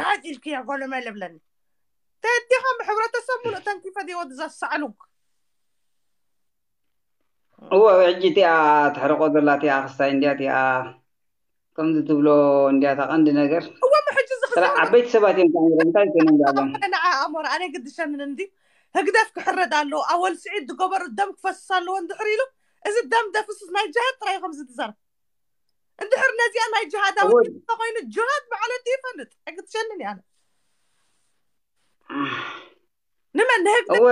ሓጅ ኢልክያ ጎለመ ለብለኒ ተዲኻ ብሕብረተሰብ ሙሉእ ተንኪፈ ዲወ ዝዛሳዕሉግ እወ ሕጂ እቲኣ ትሕርቆ ዘላ እቲኣ ክስታይ እንዲያ እቲኣ ከምዚ ትብሎ እንዲያ እታ ቀንዲ ነገር እወ ሕጂ ዝኽሰር ዓበይቲ ሰባት እዮም ተኣሚሮም እንታይ ኮይኖም ዳሎም ንዓ ኣሞራ ኣነ ግድሸንን እንዲ ህግደፍ ክሕረድ ኣለዎ ኣወል ስዒድ ዝገበሩ ደም ክፈስስ ኣለዎ እንድሕር ኢሉ እዚ ደም ደፍስስ ናይ ጅሃድ ጥራይ ከምዚ ትዛረብ እንድሕር ነዚኣ ናይ ጅሃዳዊ ኮይኑ ጅሃድ ብዓለት ይፈልጥ ኣይግድሸንን እያ ንመን ንህግደፍ እወ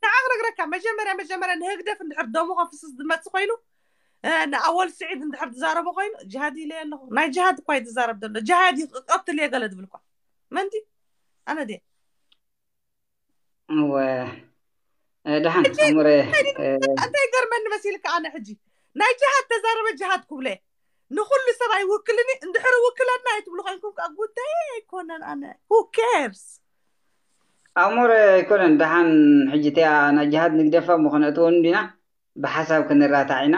ንዓ ክነግረካ መጀመርያ መጀመርያ ንህግደፍ እንድሕር ደሙ ከፍስስ ዝመጽእ ኮይኑ ንኣወል ስዒድ እንድሕር ዝዛረቦ ኮይኑ ጅሃድ ኢለ ኣለኹ ናይ ጅሃድ እኳ እዩ ዝዛረብ ዘሎ ጅሃድ ይቀትል እየ ገለ ዝብል እኳ መንቲ ኣነ ድየ እወ ደሓን ኣሙረ እንታይ ገርመኒ መሲልካ ኣነ ሕጂ ናይ ጅሃድ ተዛረበ ጅሃድ ክብለ ንኩሉ ሰብ ኣይውክልን እንድሕር ውክለና ኣይትብሉ ኮይንኩም ከዓ ጉዳይ ኣይኮነን ኣነ who cares ኣሙረ ኣይኮነን ደሓን ሕጂ እቲኣ ናይ ጅሃድ ንግደፋ ምኾነ እትወን እንዲና ብሓሳብ ክንራታዕ ኢና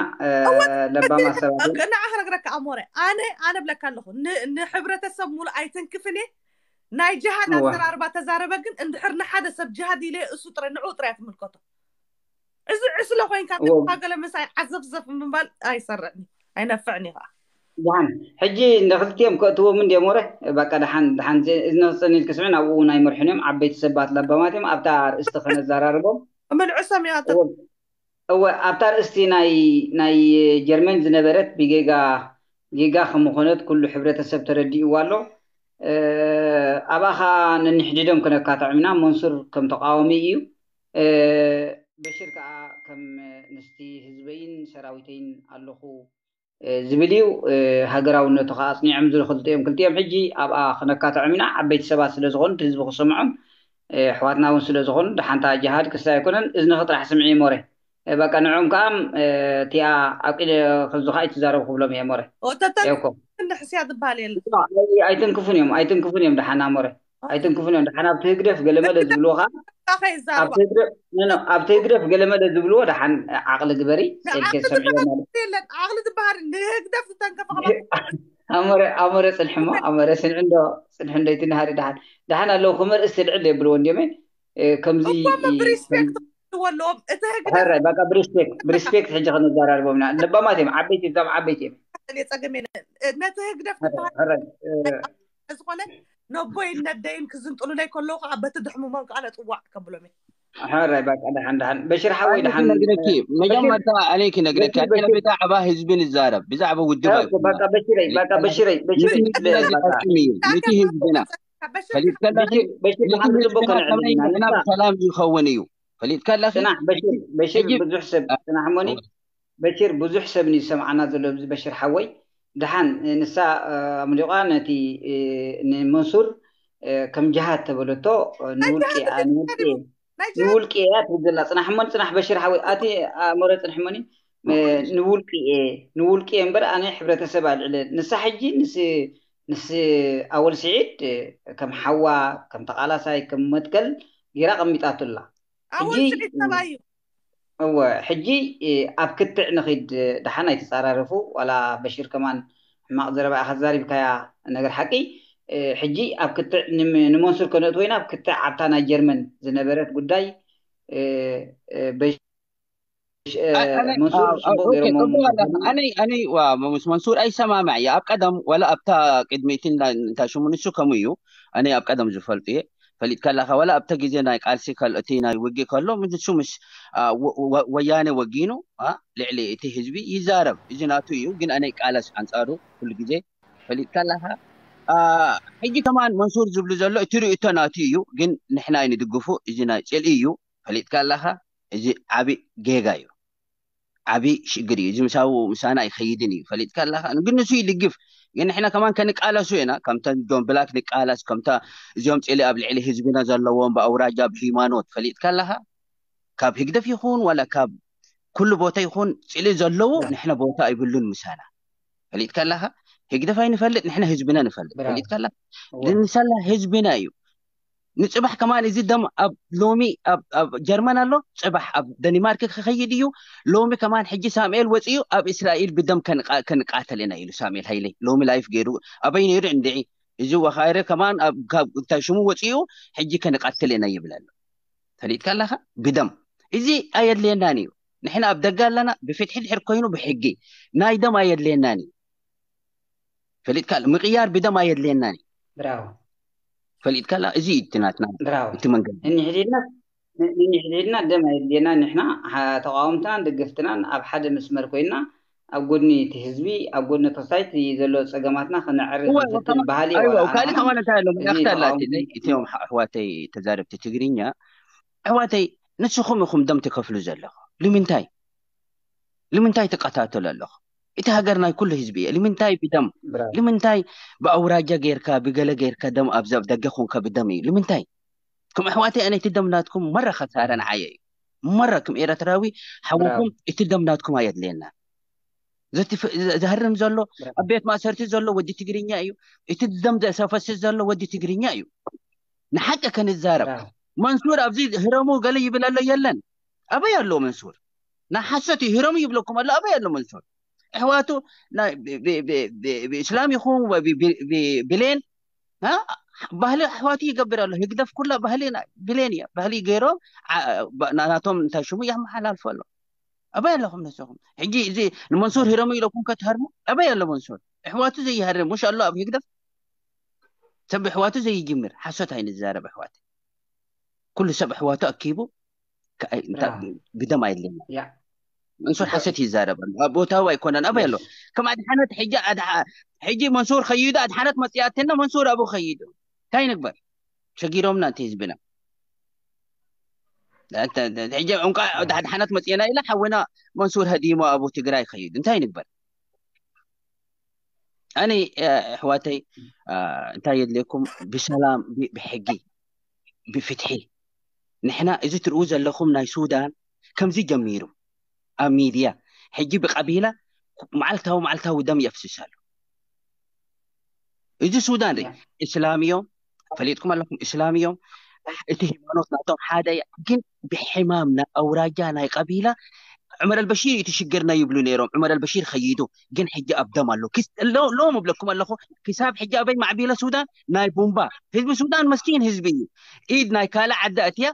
ለባማ ሰባት ንዓ ክነግረካ ኣሞረ ኣነ ኣነ ብለካ ኣለኹ ንሕብረተሰብ ሙሉ ኣይትንክፍን እየ ናይ ጅሃድ ኣዘራርባ ተዛረበ ግን እንድሕር ንሓደ ሰብ ጅሃድ ኢለ እሱ ጥረ ንዑ ጥረ ትምልከቶ እዚ ዕስለ ኮይንካ ገለ ምሳይ ዓዘፍዘፍ ምባል ኣይሰርዕን ኣይነፍዕን እዩ ከዓ ደሓን ሕጂ ንክልቲኦም ከእትዎም እንዲ ሞረ በቃ ደሓን ደሓን ንክፀኒል ክስዕን ኣብኡ እውን ኣይመርሑን እዮም ዓበይቲ ሰባት ለባማት እዮም ኣብታ ርእስቲ ከነዘራርቦም ምልዕሶም እዮም እወ ኣብታ ርእስቲ ናይ ናይ ጀርመን ዝነበረት ብጌጋ ጌጋ ከምኾነት ኩሉ ሕብረተሰብ ተረዲእዋ ኣሎ ኣብኣ ከዓ ነንሕድዶም ክነካትዖም ኢና መንሱር ከም ተቃዋሚ እዩ በሽር ከዓ ከም ምስቲ ህዝበይን ሰራዊተይን ኣለኹ ዝብል እዩ ሃገራውነቱ ከዓ ኣፅኒዖም ዝኽልጡ እዮም ክልቲኦም ሕጂ ኣብኣ ክነካትዖም ኢና ዓበይቲ ሰባት ስለዝኾኑ ህዝቢ ክሰምዖም ኣሕዋትና እውን ስለዝኾኑ ደሓንታ ጅሃድ ክስታይ ኣይኮነን እዝንኺ ጥራሕ ስምዒ ሞረ በቃ ንዕኦም ከዓ እቲኣ ኣብ ኢደ ክዙ ከዓ ኣይትዛረቡ ክብሎም እየ ሞረ ሕስያ ዝበሃል የለ ኣይትንክፉን እዮም ኣይትንክፉን እዮም ደሓና ሞረ ኣይትንክፉን እዮም ደሓና ኣብቲ ህግደፍ ገለመለ ዝብልዎ ከዓ ኣብቲ ህግደፍ ገለመለ ዝብልዎ ደሓን ዓቕሊ ግበሪ ፀልከ ዝሰምዕዮ ማለት የለን ዓቕሊ ዝበሃል ንህግደፍ ዝተንከፈ ኣሞረ ኣሞረ ፅንሕሞ ኣሞረ ስንዒ እንዶ ፅንሒ እንዶ ይትንሃሪ ደሓን ደሓን ኣለዉ ክመርእስ ልዕል የብልዎ እንዲዮመ ከምዚ እኮ ብሪስፔክት ኣለዎም እቲ ህግደፍ ሕራይ በቃ ብሪስፔክት ብሪስፔክት ሕጂ ከነዘራርቦም ኢና ለባማት እዮም ዓበይቲ እዛም ዓበይቲ እዮም የፀገም የለን ነቲ ህግደፍ ሕራይ ዝኾነ ነቦይን ነደይን ክዝንጥሉለይ ከለዉ ከዓ በቲ ድሕሙሞም ከዓ ነፅዋዕ ከብሎም ሕራይ በቃ ደሓን ደሓን በሽር ሓወይ ደሓን ነግረኪ መጀመርታ ኣነ ክነግረኪ ብዛዕባ ህዝቢ ንዛረብ ብዛዕባ ውድብ በቃ በሽረይ በቃ በሽረይ በሽረይ እዩ ነቲ ህዝብና ፈሊጥከለኺ በሽር ብሓንቲ ጽቡቅ ከነዕልል ኢና ሰላም ይኸውን እዩ ፈሊጥከለኺ ጽናሕ በሽር በሽር ብዙሕ ሰብ ጽናሕ ሞኒ በሽር ብዙሕ ሰብ ንዝሰምዓና ዘሎ ኣብዚ በሽር ሓወይ ደሓን ንሳ ኣምሊቋ ነቲ ንመንሱር ከም ጅሃድ ተበለቶ ንውልቂ ንውልቂ ንውልቂ እያ ትብል ዘላ ጽናሕ እሞ ጽናሕ በሽር ሓወይ ኣቲ ኣእምሮ ጽንሕ እሞኒ ንውልቂ እየ ንውልቂ እየ እምበር ኣነ ሕብረተሰብ ኣልዕለ ንሳ ሕጂ ንስ ንስ ኣወል ስዒድ ከም ሓዋ ከም ተቃላሳይ ከም መትከል ጌራ ቀሚጣቱ ኣላ ኣወል ስዒድ ሰብኣይ እዩ እወ ሕጂ ኣብ ክትዕ ንኺድ ደሓን ኣይተፃራረፉ ዋላ በሽር ከማን ሕማቕ ዘረባ ኢኻ ተዛሪብካያ ነገር ሓቂ ሕጂ ኣብ ክትዕ ንመንሱር ከነእትወ ኢና ኣብ ክትዕ ኣብታ ናይ ጀርመን ዝነበረት ጉዳይ ኣነይ ኣነይ ምስ መንሱር ኣይሰማማዕ እየ ኣብ ቀደም ወላ ኣብታ ቅድሚትን እንታይ ሽሙ ንሱ ከምኡ እዩ ኣነይ ኣብ ቀደም ዝፈልጡ እየ ፈሊጥካ ኣለካ ወላ ኣብተ ግዜ ናይ ቃልሲ እቲ ናይ ውጊ ከሎ ንሱ ምስ ወያነ ወጊኑ ልዕሊ እቲ ህዝቢ ይዛረብ እዚ ናቱ እዩ ግን ኣነይ ቃለስ ኣንፃሩ ኩሉ ግዜ ፈሊጥካ ኣለካ ሕጂ ከማን መንሱር ዝብሉ ዘሎ እቲ ርእቶ ናቱ እዩ ግን ንሕና ንድግፉ እዚ ናይ ፅልኢ እዩ ፈሊጥካ ኣለካ እዚ ዓብይ ጌጋ እዩ ዓብይ ሽግር እዩ እዚ ምሳው ምሳና ኣይኸይድን እዩ ፈሊጥካ ኣለካ ግን ንሱ ይድግፍ ግን ንሕና ከማን ከንቃለሱ ኢና ከምተ ዶን ብላክ ንቃለስ ከምተ እዚኦም ፅሊ ኣብ ልዕሊ ህዝብና ዘለዎም ብኣውራጃ ብሃይማኖት ፈሊጥካ ኣለካ ካብ ህግደፍ ይኹን ዋላ ካብ ኩሉ ቦታ ይኹን ፅሊ ዘለዉ ንሕና ቦታ ኣይብሉን ምሳና ፈሊጥካ ኣለካ ህግደፍ ኣይንፈልጥ ንሕና ህዝብና ንፈልጥ ፈሊጥካ ኣለካ ንሳላ ህዝብና እዩ ንፅባሕ ከማን እዚ ደም ኣብ ሎሚ ኣብ ጀርመን ኣሎ ፅባሕ ኣብ ደኒማርክ ክኸይድ እዩ ሎሚ ከማን ሕጂ ሳሙኤል ወፂኡ ኣብ እስራኤል ብደም ክንቃተል ኢና ኢሉ ሳሙኤል ሃይለይ ሎሚ ላይፍ ገይሩ ኣበይ ነይሩ እንድዒ እዚ ወኻይረ ከማን ኣብ ካብ እንታይ ሽሙ ወፂኡ ሕጂ ከንቐትል ኢና ይብል ኣሎ። ፈሊጥካ ኣለኻ? ብደም እዚ ኣየድልየናን እዩ። ንሕና ኣብ ደገ ኣለና፣ ብፍትሒ ድሕር ኮይኑ ብሕጊ ናይ ደም ኣየድልየናን እዩ። ፈሊጥካ ኣለ-፣ ምቕያር ብደም ኣየድልየናን እዩ። ብራው ፈሊጥካ ኣለ-፣ እዚ እዩ እቲ ናትና ብራው እቲ መንገዲ። እንሕሊልና እንሕሊልና ደም ኣየድልየና። ንሕና ሓ- ተቃወምትናን ደገፍትናን ኣብ ሓደ መስመር ኮይና ኣብ ጎድኒ እቲ ህዝቢ ኣብ ጎድኒ ተሳይቲ ዘሎ ፀገማትና ክነዕርፍ እወ፣ ዝፍትን ከማ- ባህሊ ኣይወ የዋላዕና። ካልእ ከማን እንታይ ኣሎ እዚ መልእኽቲ ኣላቲ ተቃውሞ- እቲኦም ኣሕዋተይ ተዛረብቲ ትግርኛ፣ ኣሕዋተይ ንስኹም ኢኹም ደም ትከፍሉ ዘለኹም። ንምንታይ ንምንታይ ትቀታተሉ ኣለኹም? እቲ ሃገር ናይ ኩሉ ህዝቢ እየ። ንምንታይ ብደም ብራው ንምንታይ ብኣውራጃ ጌርካ ብገለ ጌርካ ደም ኣብዚ ኣብ ደገ ኮንካ ብደም እዩ ንምንታይ? ከም ኣሕዋተይ ኣነ እቲ ደም ናትኩም መራ ከሳረ ንዓየ እዩ። መራ ከም ኤረትራዊ ሓውኩም ብራው እቲ ደም ናትኩም ኣየድልየና። ዘትፍ- ዘ- ዘህርም ዘሎ ብራው ኣብ ቤት ማእሰርቲ ዘሎ ወዲ ትግርኛ እዩ። እቲ ደም ዘሰፈስስ ዘሎ ወዲ ትግርኛ እዩ። ንሓቂ ከንዛረብ ብራው መንሱር ኣብዚ ህረሙ ገለ ይብል ኣሎ የለን። ኣበይ ኣሎ መንሱር? ናይ ሓሶት እዩ። ህረሙ ይብለኩም ኣሎ። ኣበይ ኣሎ መንሱር? ኣሕዋቱ ናይ ብ- ብ- ብ- ብ- ብእስላም ይኹን ወይ ብ- ብ- ብ- ብሌን እ? ባህሊ ኣሕዋቱ ይገብር ኣሎ። ህግደፍ ኩላ ባህሊ ናይ ብሌን እያ። ባህሊ ገይሮም ዓ- ባ- ና- ናቶም እንታይ ሽሙ የመሓላልፎ ኣሎ። ኣበይ ኣለኹም ንስኹም? ሕጂ እዚ ንመንሱር ህረሙ ኢለኩም ከትሃርሙ ኣበይ ኣሎ መንሱር? ኣሕዋቱ ዘይሃርም ሙሽ ኣሎ ኣብ ህግደፍ። ሰብ ኣሕዋቱ ዘይጅምር ሓሶት ኣይንዛረብ ኣሕዋት። ኩሉ ሰብ ኣሕዋቱ ኣኪቡ ከ- እንታይ- ብራው ብደም ኣየድልየና። ያ መንሱር ሓሰት ይዛረብ ኣሎ። ኣብ ቦታው ኣይኮነን። ኣበይ ኣሎ? ከም ኣድሓነት ሕጂ ኣድሓ- ሕጂ መንሱር ኸይዱ ኣድሓነት መጽያትና መንሱር ኣብኡ ኸይዱ እንታይ ንግበር? ሸጊሮምና እቲ ህዝብና። ሕጂ እንቋ ኣድሓነት መጽየና ኢላ ሓውና መንሱር ሃዲሞ ኣብኡ ትግራይ ኸይዱ እንታይ ንግበር? ኣነ ኣሕዋተይ እንታይ የድልየኩም? ብሰላም ብሕጊ ብፍትሒ። ንሕና እዚ ትርእዩ ዘለኹም ናይ ሱዳን ከምዚ ጀሚሩ ኣብ ሚድያ ሕጂ ብቀቢላ መዓልታዊ መዓልታዊ ደም የፍስስ ኣሎ። እዚ ሱዳን ርኢ እስላም እዮም፣ ፈሊጥኩም ኣለኹም እስላም እዮም። እቲ ሃይማኖት ናቶም ሓደ እያ። ግን ብሕማም ናይ ኣውራጃ ናይ ቀቢላ ዑመር ኣልበሺር እዩ እቲ ሽግርና ይብሉ ነይሮም። ዑመር ኣልበሺር ኸይዱ ግን ሕጂ ኣብ ደም ኣሎ። ሎም እብለኩም ኣለኹ ክሳብ ሕጂ ኣበይ ማዕቢለ ሱዳን ናይ ቡምባ ህዝቢ ሱዳን መስኪን ህዝቢ እዩ። ኢድ ናይ ካልእ ዓዲ ኣትያ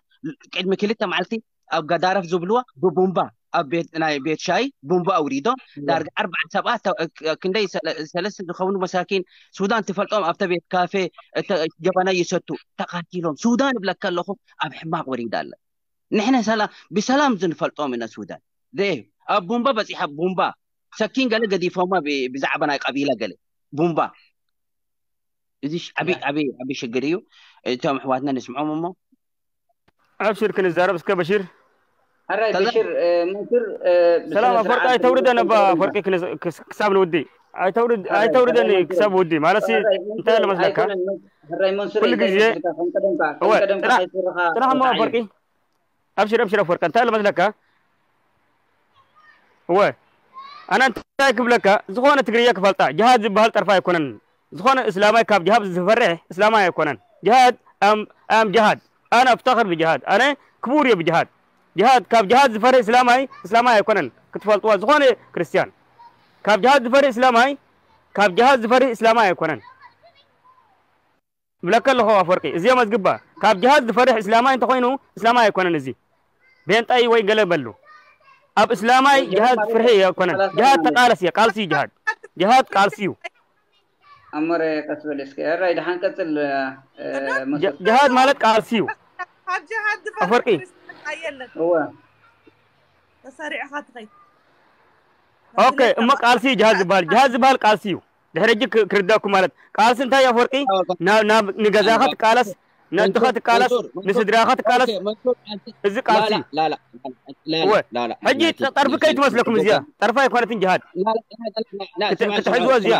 ቅድሚ ክልተ መዓልቲ ኣብ ጋዳረፍ ዝብልዋ ብቡምባ ኣብ ቤት ናይ ቤት ሻይ ቡምባ ኣውሪዶም ዳርጋ ኣርባዓ ሰባት ክንደይ ሰለስተ ዝኸውን መሳኪን ሱዳን ትፈልጦም ኣብተ ቤት ካፌ ጀበና ይሰቱ ተቃቲሎም። ሱዳን እብለካ ኣለኹ ኣብ ሕማቅ ወሪዳ ኣለ። ንሕነ ሰላም ብሰላም ዝንፈልጦም ኢና ሱዳን ዘይ ኣብ ቡምባ በፂሓ ቡምባ ሰኪን ገለ ገዲፎማ ብዛዕባ ናይ ቀቢላ ገለ ቡምባ እዚ ዓቢ ዓቢ ዓቢ ሽግር እዩ። እቶም ኣሕዋትና ንስምዖም እሞ ኣብሽር ክንዛረብ እስከ በሽር ሕራይ በሽር መንሱር ሰላም ኣፈወርቂ ኣይተውርደን እባ ኣፈወርቂ ክሳብ ንውዲ ኣይተውርደን ክሳብ ውዲ ማለት እንታይ ኣለመስለካ ሕራይ መንሱር ኩሉ ግዜ ጥራሕ እሞ ኣፈወርቂ ኣብሽር ኣብሽር ኣፈወርቂ እንታይ ኣለመስለካ እወ ኣነ እንታይ ክብለካ ዝኾነ ትግርየ ክፈልጣ ጅሃድ ዝበሃል ጠርፋ ኣይኮነን ዝኾነ እስላማይ ካብ ጅሃድ ዝፈርሕ እስላማይ ኣይኮነን ጅሃድ ኣም ጅሃድ ኣነ ኣፍታኽር ብጅሃድ ኣነ ክቡር እየ ብጅሃድ ጅሃድ ካብ ጅሃድ ዝፈርሕ እስላማይ እስላማይ ኣይኮነን ክትፈልጥዋ ዝኾነ ክርስትያን ካብ ጅሃድ ዝፈርሕ እስላማይ ካብ ጅሃድ ዝፈርሕ እስላማይ ኣይኮነን ብለካ ኣለኹ ኣፈወርቂ እዚኦም ኣዝግባ ካብ ጅሃድ ዝፈርሕ እስላማይ እንተኾይኑ እስላማይ ኣይኮነን እዚ ቤንጣይ ወይ ገለ በሉ ኣብ እስላማይ ጅሃድ ፍርሒ ኣይኮነን ጅሃድ ተቃለስ እየ ቃልሲ እዩ ጅሃድ ጅሃድ ቃልሲ እዩ ኣሞረ ቀስ በል እስኪ ሕራይ ድሓን ቀፅል ጅሃድ ማለት ቃልሲ እዩ ኣፈወርቂ እወ ተሰሪዕኻ ትኸይ ኦኬ እሞ ቃልሲ እዩ ጅሃድ ዝበሃል ጅሃድ ዝበሃል ቃልሲ እዩ ድሕሪ ሕጂ ክርዳኩም ማለት ቃልሲ እንታይ ኣፈወርቂ ናብ ንገዛኻ ትቃለስ ነድኻ ትቃለስ ንስድራኻ ትቃለስ እዚ ቃልሲ እዩ ሕጂ ጠርፊ ከይትመስለኩም እዚኣ ጠርፊ ኣይኮነትን ጅሃድ ክትሕዝዎ እዚኣ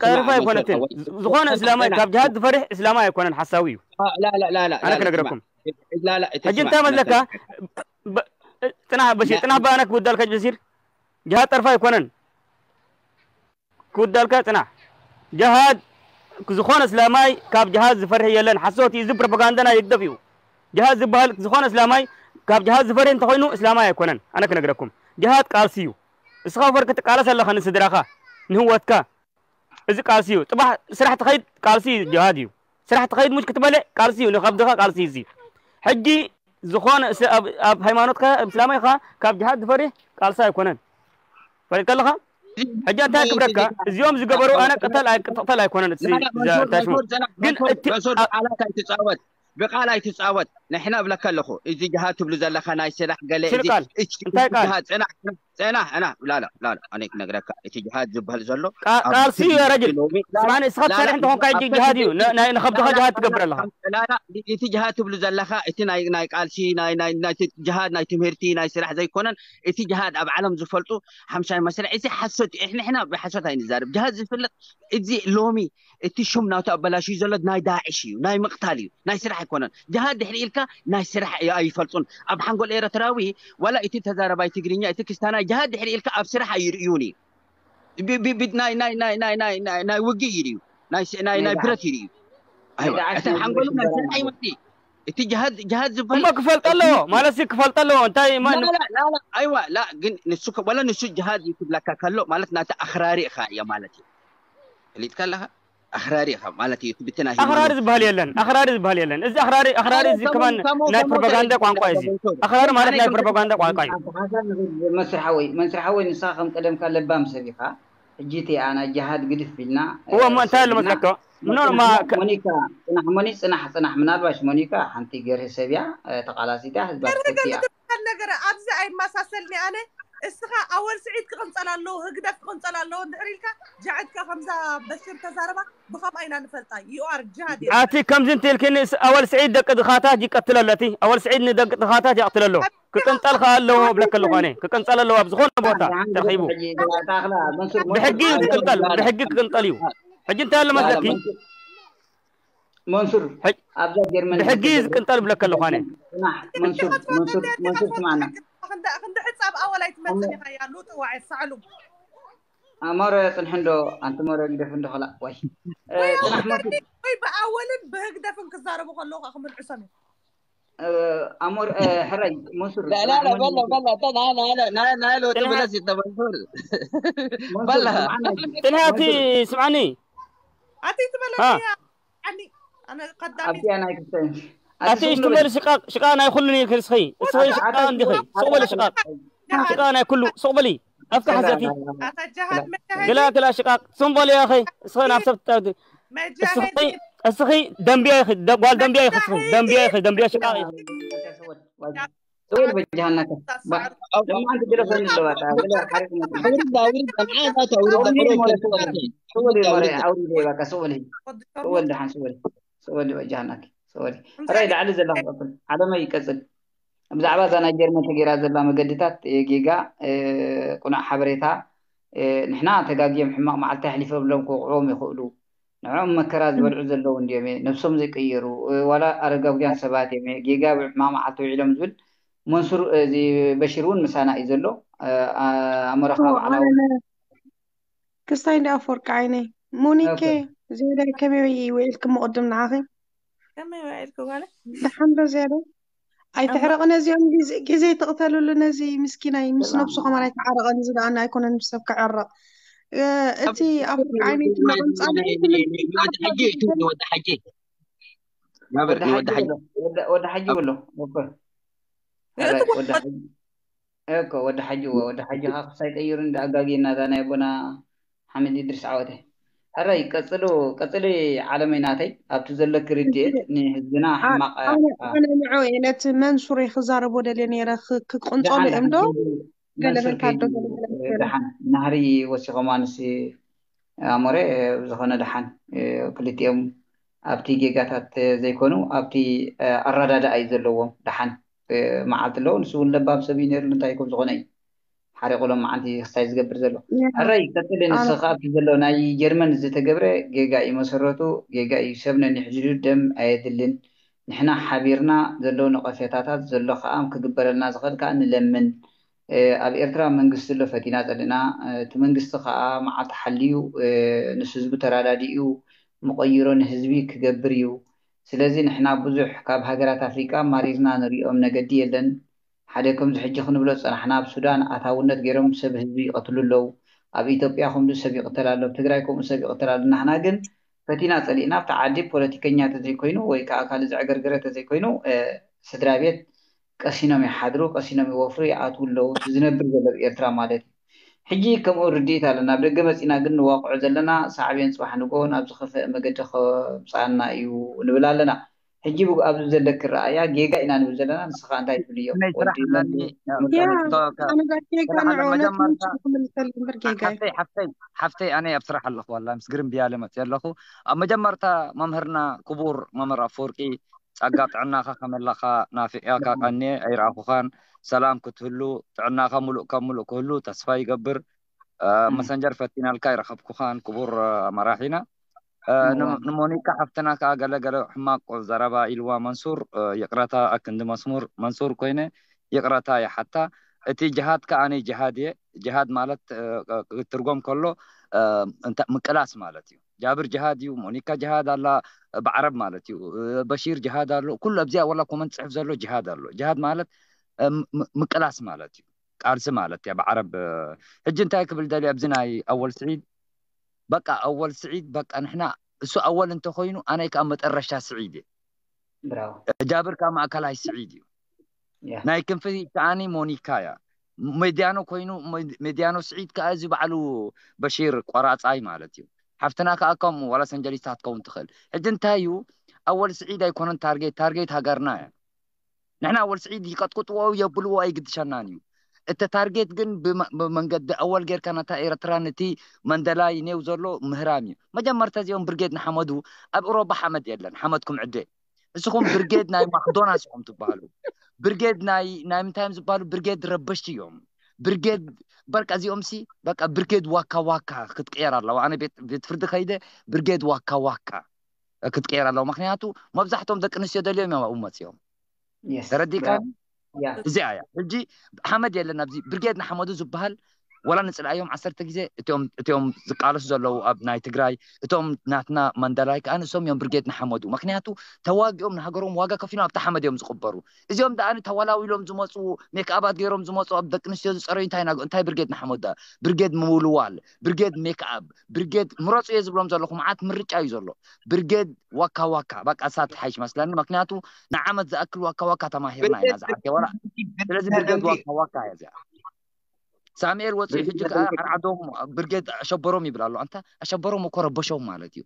ጠርፊ ኣይኮነትን ዝኾነ እስላማይ ካብ ጅሃድ ዝፈርሕ እስላማይ ኣይኮነን ሓሳዊ እዩ ኣነ ክነግረኩም ሕጂ እንታይ መስለካ ፅናሕ በሽር ፅናሕ ብኣነ ክውዳልካ በሽር ጅሃድ ጠርፊ ኣይኮነን ክውዳልካ ፅናሕ ጅሃድ ዝኾነ እስላማይ ካብ ጅሃድ ዝፈርሕ የለን ሓሶት እዩ እዚ ፕሮፓጋንዳ ናይ ህግደፍ እዩ ጅሃድ ዝበሃል ዝኾነ እስላማይ ካብ ጅሃድ ዝፈርሕ እንተኮይኑ እስላማይ ኣይኮነን ኣነ ክነግረኩም ጅሃድ ቃልሲ እዩ እስኻ ፈር ክትቃለስ ኣለኻ ንስድራኻ ንህወትካ እዚ ቃልሲ እዩ። ጽባሕ ስራሕ ትኸይድ ቃልሲ እዩ፣ ጅሃድ እዩ። ስራሕ ትኸይድ ሙሽ ክትበልዕ ቃልሲ እዩ፣ ንኸብድኻ ቃልሲ እዩ። እዚ ሕጂ ዝኾነ ስ-፣ ኣብ፣ ኣብ ሃይማኖትካ፣ ኣብ እስላማይ ኢኻ፣ ካብ ጅሃድ ዝፈርህ ቃልሲ ኣይኮነን። ፈሊጥካ ኣለኻ? ሕጂ እንታይ ክብለካ? እዚኦም ዝገበሩ ኣነ ቅተል ኣይ-፣ ቅተል ኣይኮነን እቲ ላ፣ ላ፣ ዛ-፣ መንሱር፣ ታሽሙ። መንሱር፣ ጽናሕ፣ ግን መንሱር፣ እቲ መንሱር፣ ቃላት ኣይትጻወት። ብቃል ኣይትጻወት። ንሕና እብለካ ኣለኹ፣ እዚ ጅሃድ ትብሉ ዘለኻ ናይ ስራሕ ገለ፣ ሽር እዚ ቃል? እች-፣ እንታይ ቃል? ጅሃድ፣ ጽናሕ፣ ጽናሕ፣ ጽናሕ፣ ጽናሕ፣ ላ፣ ላ፣ ላ፣ ላ፣ ኣነ ክነግረካ፣ እቲ ጅሃድ ዝበሃል ዘሎ ቃ-፣ ኣብ ቃልሲ እዩ፣ ያ ረጅል። ሎሚ፣ ላ፣ ስማዕኒ፣ ንስኻ ላ፣ ላ፣ ትሰርሕ እንተኾንካ፣ ኣብ ሕጂ ጅሃድ እዩ። ን-፣ ናይ፣ ንኸብድኻ ላ፣ ላ፣ ጅሃድ ትገብር ኣለኻ። ላ፣ ላ፣ እቲ ጅሃድ ትብሉ ዘለኻ፣ እቲ ናይ፣ ናይ ቃልሲ፣ ናይ፣ ናይ፣ ናይ ጅሃድ፣ ናይ ትምህርቲ፣ ናይ ስራሕ ዘይኮነን፣ እቲ ጅሃድ ኣብ ዓለም ዝፈልጡ ሓምሻይ መስርዕ፣ እዚ ሓሶት እዩ። ንሕና ብሓሶት ኣይንዛረብ። ጅሃድ ዝፍለጥ፣ እዚ ሎሚ እቲ ሽም ናቱ ኣበላሽዩ ዘሎ ናይ ዳዕሽ እዩ፣ ናይ ምቕታል እዩ፣ ናይ ስራሕ ኣይኮነን። ጅሃድ ድሕሪ ኢልካ ናይ ስራሕ ኣይ-፣ ኣይፈልጡን። ኣብ ሓንጎል ኤርትራዊ፣ ዋላ እቲ ተዛረባይ ትግርኛ፣ እቲ ክስታናይ፣ ጅሃድ ድሕሪ ኢልካ ኣብ ስራሕ ኣይርእዩን እዩ። ቢ-፣ ቢ-፣ ቢ-፣ ናይ፣ ናይ፣ ናይ፣ ናይ፣ ናይ፣ ናይ፣ ናይ ውግእ እዩ ድዩ? ናይ ስ-፣ ናይ፣ ናይ ናይ ዳዕሽ። ብረት እዩ ድዩ? ናይ ኣይዋ፣ ዳዕሽ እቲ ናይ ሓንጎሉ ናይ ስራሕ ይመጽእ። እቲ ጅሃድ፣ ጅሃድ ዝበሃል እሞ ክፈልጥ ኣለዎ፣ ማለት ሲ ክፈልጥ ኣለዎ። እንታይ ማ-፣ ላ፣ ላ፣ ላ፣ ላ፣ ኣይዋ፣ ላ፣ ግን ንሱ ከ-፣ ዋላ ንሱ ጅሃድ እዩ ክብለካ ከሎ፣ ማለት ናቲ ኣኽራሪ ኢኻ እያ ማለት እዩ። ፈሊጥካ ኣለኻ? ኣኽራሪ ኢኻ ማለት እዩ። እቲ ብቲ ናይ ኣኽራሪ ሃይማኖት ዝበሃል የለን፣ ኣኽራሪ ዝበሃል የለን። እዚ ኣኽራሪ፣ ኣኽራሪ ኣረ፣ እዚ ከማን ከማን፣ ከማን ናይ ከማን ፕሮፓጋንዳ ተረዲእካ ቋንቋ እዩ። እዚ ኣለኻ። ኣኽራሪ ማለት ኣነ ናይ ከም ፕሮፓጋንዳ ቋንቋ እዩ። ኣተሓሳስባ መንሱር ሓወይ፣ መንሱር ሓወይ፣ ንስኻ ከም ቀደምካ ለባም ሰብ ኢኻ። ሕጂ እቲ ኣና ጅሃድ ግድፍ ኢልና፣ እዎ፣ እ፣ እሞ እንታይ ኣሎ ሰቢና መስለካ? ምኖ፣ ማ-፣ ጽናሕ፣ ከ-፣ ሞኒካ፣ ጽናሕ፣ ሞኒ-፣ ጽናሕ፣ ጽናሕ፣ ምናልባሽ ሞኒካ ሓንቲ ገርሂ ሰብ እያ፣ እ፣ ተቓላሲት እያ፣ ህዝባ ገርሂ ትፈቲ እያ። ገርሂ ትበሃል ነገር ኣብዚ ኣይመሳሰልኒ ኣነ። እስኻ ኣወል ስዒድ ክቕንጸል ኣለዎ፣ ህግደፍ ክቕንጸል ኣለዎ እንድሕር ኢልካ፣ ጃዕድካ ከምዛ በሽር ተዛረባ፣ ብኸምኣ ኢና ንፈልጣ። You are ጅሃድ እያ። ኣቲ ከምዚ እንተ ኢልክኒ፣ ስ-፣ ኣወል ስዒድ ደቂ ድኻታት ይቀትል ኣሎ፣ እቲ ኣወል ስዒድ ንደቂ ድኻታት ይቕትል ኣሎ። ክቅንጠል ከኣ ኣለዎ እብለካ ኣለኹ ኣነ። ክቅንጠል ኣለዎ ኣብ ዝኾነ ቦታ ተረኺቡ። ብሕጊ እዩ ክቅንጠል፣ ብሕጊ ክቅንጠል እዩ። ሕጂ እንታይ ኣሎ መስለኪ? መንሱር፣ ሕጅ-፣ ኣብዛ ጀርመን ብሕጊ እዩ ዝቅንጠል እብለካ ኣለኹ ኣነ። ጽናሕ፣ መንሱር፣ መንሱር፣ መንሱር ስማዕና። ክንዲ፣ ክንዲ ሕጻብ ኣወል ኣይትመጽን ኢኻ፣ ያ ሉጥ ዋዒ ሳዕሉ። ኣሞረ ጽንሕ እንዶ፣ ኣንቲ ሞረ ግደፍ እንዶ ኸላ፣ ዋይ። እ፣ ወይ ጽናሕ ኣወል መንሱር። ወይ ብኣወልን ብህግደፍን ክዛረቡ ከለዉ ከኣ ክምልዕሶም እዮም። እ፣ ኣሞር፣ እ፣ ሕራይ፣ መንሱር፣ ላ፣ ላ፣ ጽናሕ ላ፣ መንሱር። በላ፣ በላ፣ ተ-፣ ና፣ ና፣ ና፣ ና፣ ና፣ ሎ፣ ጽናሕ፣ ትብለስ ይተባልኩ። መንሱር፣ በላ። ስምዓና፣ ጽናሕ፣ እቲ መንሱር። ስምዓኒ። ኣቲ ትበለኒ ሃ። እያ። ኣኒ፣ ኣነ ቀዳሚት። ኣብዚኣ ናይ ክስተን። ኣቲ ኣቲ እሽቱ ሽምበል በል ሽቃቅ፣ ሽቃቅ ናይ ኩሉ ነይርኪ ንስኺ። እስኺ ኣቲ ሽቃቅ ኣቲ እንዲኺ። ኣቲ ሱቅ በል ኣቲ ሽቃቅ። ሽቃቅ ናይ ኩሉ። ሱቅ በሊ። ኣፍካ ሓዘቲ። ኣታ ጃሃድ መጃሂድ። ግላ፣ ግላ ሽቃቅ። ሱም በል ያኺ። እስኺ ናብ ሰብ ትጠርዲ። እስኺ፣ መጃሂድ። እስኺ ደምብያ ኢኺ። ደ-፣ ጓል ደምብያ ኢኺ እስኺ። መጃሂድ። ደምብያ ኢኺ። ደምብያ ሽቃቅ ኢኺ። ሱቅ በል በጃሃናከ። ባ-፣ ደሞ ኣንቲ ግደፈኒ ኣለዋ። ታ፣ ግለ ሓሪቅ መ-፣ ኣውርዳ፣ ኣውርዳ፣ ንዓይ እዛ ተውርዳ፣ ኣውርዳ፣ ኣውርዳ፣ ኣውርዳ። ሱቅ በል፣ ሞረ፣ ኣውርዳ። ኣውርዳ፣ በቃ፣ ሱቅ በል። ሱቅ በል፣ ደሓን፣ ሱቅ በል። ሱቅ በል፣ በጃሃናኪ። ሱቅ በል። ሕራይ፣ ላዕሊ ዘለኹ ቀጽል። ዓለመይ ይቀጽል። ብዛዕባ እዛ ናይ ጀርመን ተገይራ ዘላ መገድታት፣ እ፣ ጌጋ፣ እ፣ ቁኑዕ ሓበሬታ፣ እ፣ ንሕና ተጋግዮም ሕማቕ መዓልቲ ኣሕሊፎምሎም ክወቕዕዎም ይኽእሉ። ንዕኦም መከራ ዝበልዑ ዘለዉ እንድዮም፣ እ፣ ነብሶም ዘይቀየሩ፣ እ፣ ዋላ ኣረጋውያን ሰባት እዮም፣ እ፣ ጌጋ ኣብ ሕማቕ መዓልቲ ውዒሎም ዝብል መንሱር፣ እ፣ እዚ በሽር እውን ምሳና እዩ ዘሎ። እ፣ ኣ-፣ ኣሞራኻ ኦ፣ ባዕላዊ ኣነ ክስታይ እንዲ ኣፈወርቂ ዓይነይ። ሞኒኬ፣ ኦኬ። ዝያዳይ ከመይ ውዒልኪ እሞ ቅድም ንዓኺ? ከመይ ውዒልኪ ጓለይ? ደሓን ዶ ዝያዳይ? ኣይትሕረቒ ነዚኦም ግዜ፣ ግዜ ትቕተልሉ ነዚ ምስኪናይ። ምስ ነብሱ ከማን ኣይትዓረቐን። እዚ ደኣ ኣይኮነን ምስ ሰብ ክዕረቕ። እ፣ እቲ ኣፈወርቂ ዓይነይ ትናቐምጻለይ ወዲ ሓጂ እዩ፣ ወዲ ሓጂ። ናበር፣ ወዲ ወዲ ሓጂ ሓጂ። ኣሎ። ወዲ፣ ወዲ ሓጂ ኣሎ። ኦኬ። ሕራይ፣ ወዲ ሓጂ። እኮ ወዲ ሓጂ፣ እወ፣ ወዲ ሓጂ ኸኣ ክሳይ ቀይሩ እንዳ ኣጋግየና እዛ ናይ ኣቦና ሓመድ ኢድሪስ ዓወተ። ሕራይ፣ ቀጽሉ፣ ቀጽሊ ዓለመይ ናተይ፣ ኣብቲ ዘለኪ ርድኢት ንህዝብና አ-፣ ሕማቕ፣ ኣነ፣ አ-፣ ኣነ ንዑ እየ ነቲ መንሱር እየ ክዛረቦ ደልየ ነይረ፣ ክ-፣ ክቅንጸሉ ደሓን፣ እዮም ዶ? ደሓን፣ ገለ መንሱር መታዶ ከይዱ፣ ገለ ገለ ገለ። ደሓን፣ ናህሪ ወሲኾም ኣንስ ኣሞረ፣ ብዝኾነ ደሓን፣ ክልቲኦም ኣብቲ ጌጋታት ዘይኮኑ፣ ኣብቲ ኣረዳድኣ እዩ ዘለዎም። ደሓን መዓልቲ ኣለዎ። ንሱ እውን ለባም ሰብ እዩ ነይሩ፣ እንታይ ከም ዝኾነ እዩ ሓሪቑ ሎማዓንቲ ክስታይ ዝገብር ዘሎ። ሕራይ፣ ቀጽሊ። ኣነ ንስኻ ኣብቲ ዘሎ ናይ ጀርመን ዝተገብረ ጌጋ እዩ መሰረቱ፣ ጌጋ እዩ። ሰብ ነኒሕዝሉ ደም ኣየድልን። ንሕና ሓቢርና ዘሎ ነቐፌታታት ዘሎ ከኣ ክግበረልና ዝኽእል ከኣ ንለምን። እ፣ ኣብ ኤርትራ መንግስቲ ኣሎ፣ ፈቲና ጸሊእና። እ፣ እቲ መንግስቲ ከኣ መዓልቲ ሓልዩ፣ እ፣ ምስ ህዝቡ ተራዳዲኡ ምቐይሮ ንህዝቢ ክገብር እዩ። ስለዚ ንሕና ብዙሕ ካብ ሃገራት ኣፍሪቃ ማሪርና ንሪኦም ነገዲ የለን። ሓደ ከምዚ ሕጂ ክንብሎ ዝጸናሕና፣ ኣብ ሱዳን ኣታውነት ገይሮም ሰብ ህዝቢ ይቐትሉ ኣለዉ። ኣብ ኢትዮጵያ ከምኡ ሰብ ይቕተል ኣሎ፣ ኣብ ትግራይ ከምኡ ሰብ ይቕተል ኣሎ። ናህና ግን ፈቲና ጸሊእና ኣብቲ ዓዲ ፖለቲከኛ ተዘይኮይኑ ወይ ከዓ ካልእ ዘዕገርገረ ተዘይኮይኑ ስድራ ቤት ቀሲኖም ይሓድሩ፣ ቀሲኖም ይወፍሩ፣ ይኣትዉ ኣለዉ። እቲ ዝነብር ዘሎ ኣብ ኤርትራ ማለት እዩ። ሕጂ ከምኡ ርድኢት ኣለና። ኣብ ደገ መጺና ግን ንዋቕዖ ዘለና ሳዕቤን ጽባሕ ንግሆ ናብ ዝኸፍአ መገዲ ከምጽኣና እዩ ንብል ኣለና። ሕጂ ኣብዚ ዘለኪ ረኣያ ጌጋ ኢና ንብል ዘለና። ንስኻ እንታይ ትብልዮ? ናይ ስራሕ ኣለኒ ኣነ ጌጋ ንዕወነት ምንጭ ክምልሰሉ እምበር ጌጋ ሓፍተይ ሓፍተይ ሓፍተይ ኣነ ኣብ ስራሕ ኣለኹ። ዋላ ምስ ግርም ብያለ መፅእ ኣለኹ። ኣብ መጀመርታ መምህርና ክቡር መምህር ኣፈወርቂ ጸጋ ጥዕናኻ ከመይ ኣለኻ? ናፊቐካ ቀንየ ኣይረኣኹኻን። ሰላም ክትህሉ ጥዕናኻ ሙሉእ ካብ ሙሉእ ክህሉ ተስፋ ይገብር። መሰንጀር ፈቲናልካ ኣይረኸብኩኻን ክቡር መራሒና። ንሞኒካ ሓፍትና ከዓ ገለ ገለ ሕማቅ ዘረባ ኢልዋ መንሱር፣ ይቅረታ ኣክንዲ መስሙር መንሱር ኮይነ ይቅረታ ይሓታ። እቲ ጅሃድ ከዓኒ ጅሃድ እየ። ጅሃድ ማለት ክትርጎም ከሎ ምቅላስ ማለት እዩ። ጃብር ጅሃድ እዩ፣ ሞኒካ ጅሃድ ኣላ ብዓረብ ማለት እዩ። በሺር ጅሃድ ኣሎ። ኩሉ ኣብዚኣ ወላ ኮመንት ጽሕፍ ዘሎ ጅሃድ ኣሎ። ጅሃድ ማለት ምቅላስ ማለት እዩ። ቃልሲ ማለት እያ ብዓረብ። ሕጂ እንታይ ክብል ደልየ ኣብዚ ናይ ኣወል ስዒድ፣ በቃ ኣወል ስዒድ በቃ ንሕና እሱ ኣወል እንተኮይኑ ኣነ ከዓ መጠረሻ ስዒድ እየ። ጃብር ከዓ ማእከላይ ስዒድ እዩ። ናይ ክንፊ ከዓኒ ሞኒካ እያ። ሜድያኖ ኮይኑ ሜድያኖ ስዒድ ከዓ እዚ ባዕሉ በሺር ቆራፃይ ማለት እዩ። ሓፍትና ከዓ ከምኡ ዋላ ሰንጀሊስታ ክትከውን ትኽእል። ሕጂ እንታይ እዩ ኣወል ስዒድ ኣይኮነን ታርጌት፣ ታርጌት ሃገርና እያ። ንሕና ኣወል ስዒድ ይቀጥቅጥዎ የብልዎ ኣይግድሸናን እዩ። እቲ ታርጌት ግን ብመንገዲ ኣወል ጌርካ ነታ ኤረትራ ነቲ መንደላይ ኔው ዘሎ ምህራም እዩ። መጀመርታ እዚኦም ብርጌድ ንሓመዱ ኣብ ኤሮባ ሓመድ የለን፣ ሓመድኩም ዕደ። እስኹም ብርጌድ ናይ ማክዶናልስ ኢኹም ትበሃሉ። ብርጌድ ናይ ናይ ምንታይ እዮም ዝበሃሉ? ብርጌድ ረበሽቲ እዮም። ብርጌድ በቃ እዚኦም ሲ በቃ ብርጌድ ዋካ ዋካ ክትቅየር ኣለዋ። ኣነ ቤት ቤት ፍርዲ ከይደ ብርጌድ ዋካ ዋካ ክትቅየር ኣለዋ። ምክንያቱ መብዛሕትኦም ደቂ ኣንስትዮ ደልዮም እዮም ኣብኡ መፅዮም። ተረዲእካ? እዚኣ እያ። ሕጂ ሓመድ የለን ኣብዚ ብርጌድ ንሓመዱ ዝበሃል ወላ ንፅልኣዮም ዓሰርተ ግዜ እቶም እቶም ዝቃለሱ ዘለዉ ኣብ ናይ ትግራይ እቶም ናትና መንደላይ ከዓ ንሶም እዮም ብርጌድ ንሓመዱ። ምክንያቱ ተዋጊኦም ንሃገሮም ዋጋ ከፊሎም ኣብቲ ሓመድ እዮም ዝቕበሩ። እዚኦም ደኣ ተወላዊሎም ዝመፁ ሜክኣባት ገይሮም ዝመፁ ኣብ ደቂ ኣንስትዮ ዝፀረዩ እንታይ ናገ እንታይ ብርጌድ ንሓመዱ ደኣ ብርጌድ ምውልዋል ብርጌድ ሜክኣብ ብርጌድ ምረፁ እየ ዝብሎም ዘለኹ። መዓት ምርጫ እዩ ዘሎ። ብርጌድ ዋካ ዋካ በቃ እሳ ትሓይሽ መስለኒ። ምክንያቱ ንዓመት ዝኣክል ዋካ ዋካ ተማሂርና ኢና ዝዓርከ ወላ። ስለዚ ብርጌድ ዋካ ዋካ እያ እዚኣ። ሳሙኤል ወፂኡ ሕጂ ከዓ ዓርዓዶም ብርጌድ ኣሸበሮም ይብል ኣሎ። ኣንታ ኣሸበሮም እኮ ረበሾም ማለት እዩ።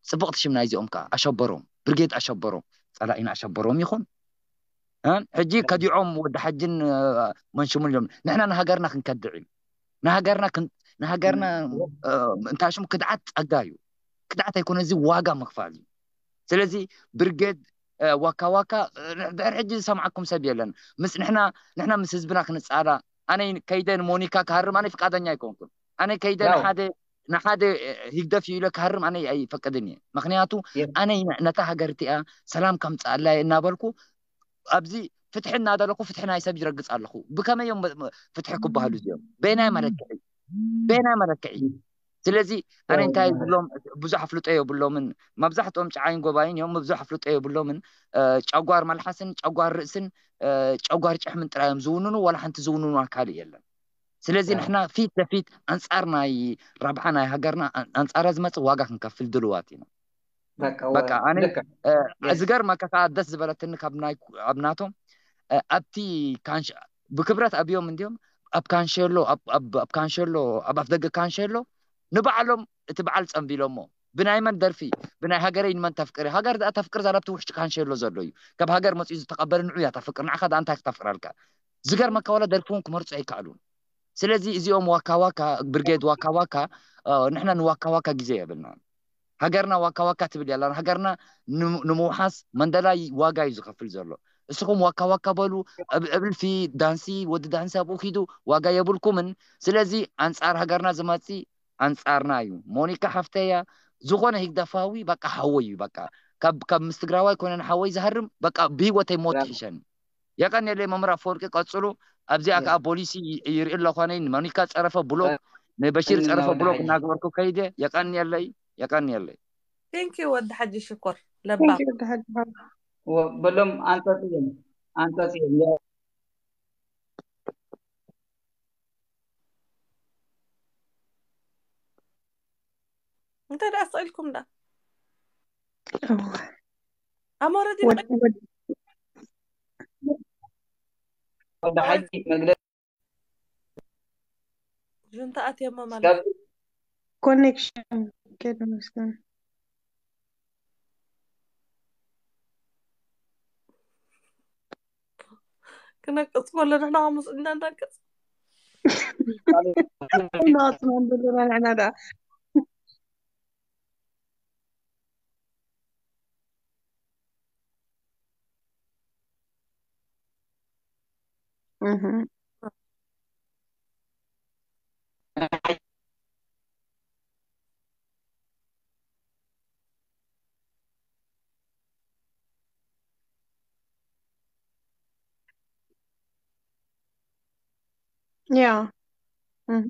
ፅብቕቲ ሽም ናይዚኦም ከዓ ኣሸበሮም ብርጌድ ኣሸበሮም ጸላኢና ኣሸበሮም ይኹን። ሕጂ ከዲዖም ወዲ ሓጅን መንሽሙን ኢሎም ንሕና ንሃገርና ክንከድዕ እዩ። ንሃገርና ንሃገርና እንታይ ሽሙ ክድዓት ጸጋ እዩ። ክድዓት ኣይኮነ እዚ ዋጋ ምኽፋል እዩ። ስለዚ ብርጌድ ዋካ ዋካ ድሕር ሕጂ ዝሰምዓኩም ሰብ የለን። ምስ ንሕና ንሕና ምስ ህዝብና ክንጻላ ኣነ ከይደ ንሞኒካ ክሃርም ኣነ ፍቃደኛ ኣይኮንኩን። ኣነ ከይደ ንሓደ ንሓደ ህግደፍ እዩ ኢለ ክሃርም ኣነ ኣይፈቅድን እየ። ምክንያቱ ኣነ ነታ ሃገር እቲኣ ሰላም ከምፅኣላ እየ እናበልኩ ኣብዚ ፍትሒ እናደለኩ ፍትሒ ናይ ሰብ ይረግፅ ኣለኹ። ብከመይ እዮም ፍትሒ ክበሃሉ እዚኦም? በየናይ መለክዒ? በየናይ መለክዒ? ስለዚ ኣነ እንታይ ዝብሎም ብዙሕ ኣፍልጦ የብሎምን። መብዛሕትኦም ጨዓይን ጎባይን እዮም። ብዙሕ ኣፍልጦ የብሎምን። ጨጓር መልሓስን ጨጓር ርእስን ጨጓር ጭሕምን ጥራይ እዮም ዝውንኑ። ዋላ ሓንቲ ዝውንኑ ኣካል የለን። ስለዚ ንሕና ፊት ለፊት ኣንጻር ናይ ረብሓ ናይ ሃገርና ኣንጻራ ዝመጽእ ዋጋ ክንከፍል ድልዋት ኢና። በቃ ኣነ ዝገርመካ ከዓ ደስ ዝበለትኒ ካብ ናይ ኣብ ናቶም ኣብቲ ብክብረት ኣብዮም እንዲዮም ኣብ ካንሸሎ ኣብ ካንሸሎ ኣብ ኣፍደገ ካንሸሎ ንባዕሎም እቲ በዓል ጸንቢሎሞ ብናይ መን ደርፊ ብናይ ሃገረይ ንመን ተፍቅሪ ሃገር ደኣ ተፍቅር ዛላብቲ ውሽጢ ካንሸሎ ዘሎ እዩ። ካብ ሃገር መጺኡ ዝተቐበለ ንዑ እያ ተፍቅር ንዓኻ ደኣ እንታይ ክተፍቅረልካ? ዝገርመካ ዋላ ደርፊ እውን ክመርጹ ኣይከኣሉን። ስለዚ እዚኦም ዋካ ዋካ ብርጌድ ዋካ ዋካ ንሕና ንዋካ ዋካ ግዜ የብልና። ሃገርና ዋካ ዋካ ትብል ያላ ሃገርና ንምውሓስ መንደላይ ዋጋ እዩ ዝኸፍል ዘሎ። እስኹም ዋካ ዋካ በሉ እብልፊ ዳንሲ ወዲ ዳንሲ ኣብኡ ኪዱ ዋጋ የብልኩምን። ስለዚ ኣንጻር ሃገርና ዝመጺ ኣንጻርና እዩ። ሞኒካ ሓፍተያ ዝኾነ ሂግደፋዊ በቃ ሓወይ እዩ በቃ ካብ ካብ ምስ ትግራዋይ ኮነ ንሓወይ ዝሃርም በቃ ብህይወተይ ሞት ይሕሸኒ። የቀንየለይ መምህር ኣፈወርቂ ቀጽሉ። ኣብዚኣ ከዓ ፖሊሲ ይርኢ ኣለኳነይ ንሞኒካ ጸረፈ ብሎክ ንበሺር ጸረፈ ብሎክ እናገበርኩ ከይደ የቀንየለይ የቀንየለይ። Thank you ወዲ ሓጂ ሽኮር ለባ በሎም ኣንጸጽዮም ኣንጸጽዮም። ያ- እንታይ ደኣ ስቕ ኢልኩም ደኣ? እወ። ኣሞረዲ ወድ- ወድ- ወደ ሓጂ መግለፂ ጁንታ ኣትየሞ ማለት ስጋብ ኮኔክሽን ከይዱ መስገን። ክነቅጽ ከሎ ንሕና ከምኡ እንዳንቀጽ እናወፅና ዘለና ንሕና ደኣ። እህ። ያ። እህ።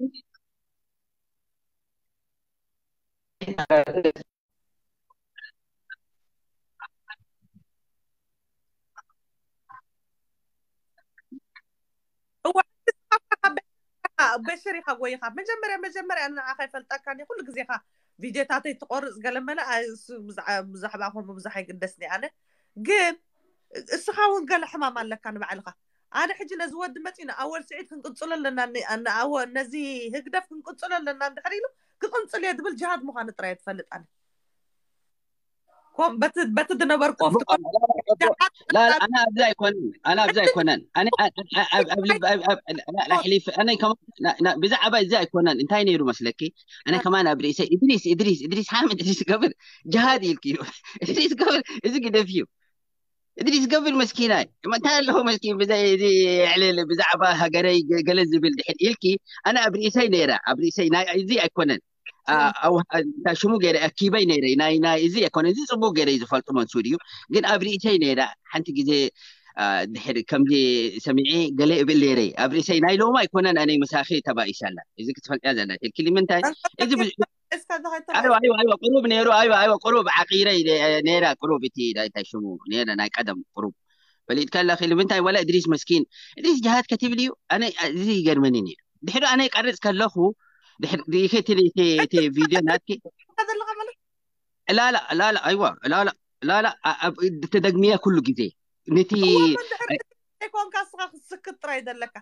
እዋ፣ በሽር ኢኻ ጎይኻ። መጀመርያ መጀመርያ ንዓኻ ይፈልጠካኒ። ኩሉ ግዜ ኢኻ ቪድዮታተይ ትቆርጽ ገለ መለ፣ ኣይ፣ እሱ ብዛዕ-፣ ብዛዕባ ከምኡ ብዙሕ ኣይግደስኒ ኣነ። ግን እስኻ እውን ገለ ሕማም ኣለካ ንባዕልኻ። ኣነ ሕጂ ነዚ ወዲ መጺኡ ንኣወል ስዒድ ክንቅጽሎ ኣለና፣ ን-፣ ንኣወ-፣ ነዚ ህግደፍ ክንቅጽሎ ኣለና እንድሕር ኢሉ፣ ክቕንጽል እየ ዝብል ጅሃድ ምዃኑ ጥራይ እየ ዝፈልጥ ኣነ። ኮም-፣ በቲ፣ በቲ ዝነበርኩ ኣብቲ ኮም-፣ لا لا، انا ابدا يكون، انا ابدا يكون انا، انا ابدا احلف انا كمان. بزعبه ازاي يكون انت نيرو مسلكي؟ انا كمان ابريسي ادريس، ادريس، ادريس حامد، ادريس قبل جهاد يلكيو. ادريس قبل ازي قدفيو. ادريس قبل مسكيناي، ما انت له مسكين بزي يعلل بزعبه هاجري قلز بالدحين يلكي. انا ابريسي نيره، ابريسي ناي ازي يكونن. ኣው እንታይ ሽሙ ገይረ ኣኪበይ ነይረ። ናይ ናይ እዚ ኣይኮነ፣ እዚ ጽቡቅ ገይረ እዩ ዝፈልጡ መንሱር እዩ። ግን ኣብ ርእሰይ ነይረ ሓንቲ ግዜ፣ አ፣ ድሕሪ ከምዚ ሰሚዐ ገለ እብል ነይረ ኣብ ርእሰይ። ናይ ሎማ ኣይኮነን፣ ኣነ ምሳኺ ተባኢሰ ኣላ። እዚ ክትፈልጥያ ዘላ ትልኪ ንምንታይ እዚ ብዙ እስካ ዝኸይድ ኣይዋ ኣይዋ ኣይዋ ቁሩብ ነይሩ። ኣይዋ ኣይዋ ቁሩብ ዓቂረ ነይራ። ቁሩብ እቲ እንታይ ሽሙ ነይረ ናይ ቀደም ቁሩብ ፈሊጥካ ኣለኺ። ንምንታይ ወላ እድሪስ መስኪን እድሪስ ጅሃድ ከትብል እዩ። ኣነ እዚ ይገርመኒ ነይሩ። ድሕሪ ኣነ ይቀርጽ ከለኹ ድሕሪ ሪኢኺ እቲ እቲ እቲ ቪድዮ ናትኪ ዘለካ ማለት ላላ ላላ ኣይዋ ላላ ላላ ኣ- ኣብ ተደግሚያ ኩሉ ግዜ ነቲ እዋ፣ እሞ እንድሕር ዘይኮንካ እስኻ ክትስክት ጥራይ ዘለካ።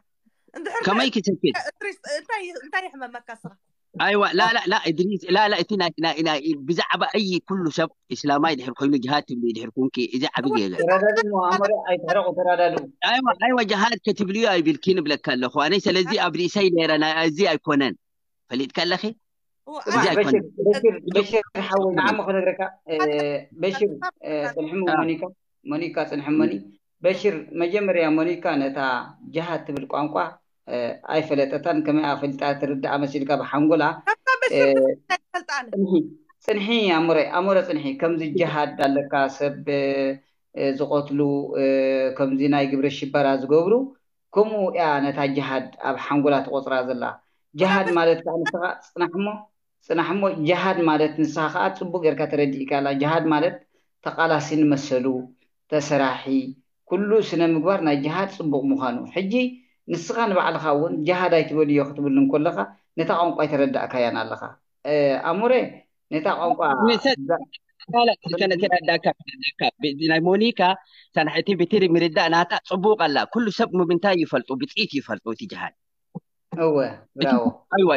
እንድሕር ከመይ ክሰክት? እድሪስ፣ እንታይ እንታይ ይሕመመካ እስኻ? ኣይዋ ላላ ላ እድሪስ ላላ እቲ ናይ ናይ ናይ ብዛዕባ ኣይ ኩሉ ሰብ እስላማይ ድሕር ኮይኑ ጅሃድ ትብሉ ድሕር ኩንኪ እዚ ዓቢ ጌጋ። ተረዳድኡ እሞ ኣሞረ ኣይትሕረቑ፣ ተረዳድኡ። ኣይዋ ኣይዋ ጅሃድ ከትብልዩ ኣይብልኪ ንብለካ ኣለኹ ኣነ። ስለዚ ኣብ ርእሰይ ነይረ ናይ እዚ ኣይኮነን ፈሊጥካ ኣለኺ። እዚ ኣይኮነን። በሽር ሓወይ ንዓሞ ክነግረካ። በሽር ጽንሕሙ ሞኒካ፣ ሞኒካ ጽንሕሞኒ። በሽር መጀመርያ ሞኒካ ነታ ጅሃድ ትብል ቋንቋ ኣይፈለጠታን። ከመይ ኣፈልጣ ትርዳኣ መሲልካ ብሓንጎላ። ጽንሒ ኣሞረ ኣሞረ ጽንሒ ከምዚ ጅሃድ ኣለካ ሰብ ዝቐትሉ፣ ከምዚ ናይ ግብረ ሽበራ ዝገብሩ፣ ከምኡ እያ ነታ ጅሃድ ኣብ ሓንጎላ ትቖጽራ ዘላ። ጅሃድ ማለት ከዓ ንስኻ ጽናሕ እሞ፣ ጽናሕ እሞ ጅሃድ ማለት ንስኻ ከዓ ጽቡቕ ጌርካ ተረዲእካ ኣላ። ጅሃድ ማለት ተቓላሲ ንመሰሉ፣ ተሰራሒ፣ ኩሉ ስነ ምግባር ናይ ጅሃድ ጽቡቕ ምዃኑ። ሕጂ ንስኻ ንባዕልኻ እውን ጅሃድ ኣይትበልዮ ክትብል እንከለኻ ነታ ቋንቋ ኣይተረዳእካያን ኣለኻ። ኣሞረ ነታ ቋንቋ ተረዳእካ። ናይ ሞኒካ ሳንሕቲ ብትሪ ምርዳእ ናታ ጽቡቕ ኣላ። ኩሉ ሰብ ምምንታይ ይፈልጡ ብጽኢት ይፈልጡ እቲ ጅሃድ። እወ ብራዎ። ኣይዋ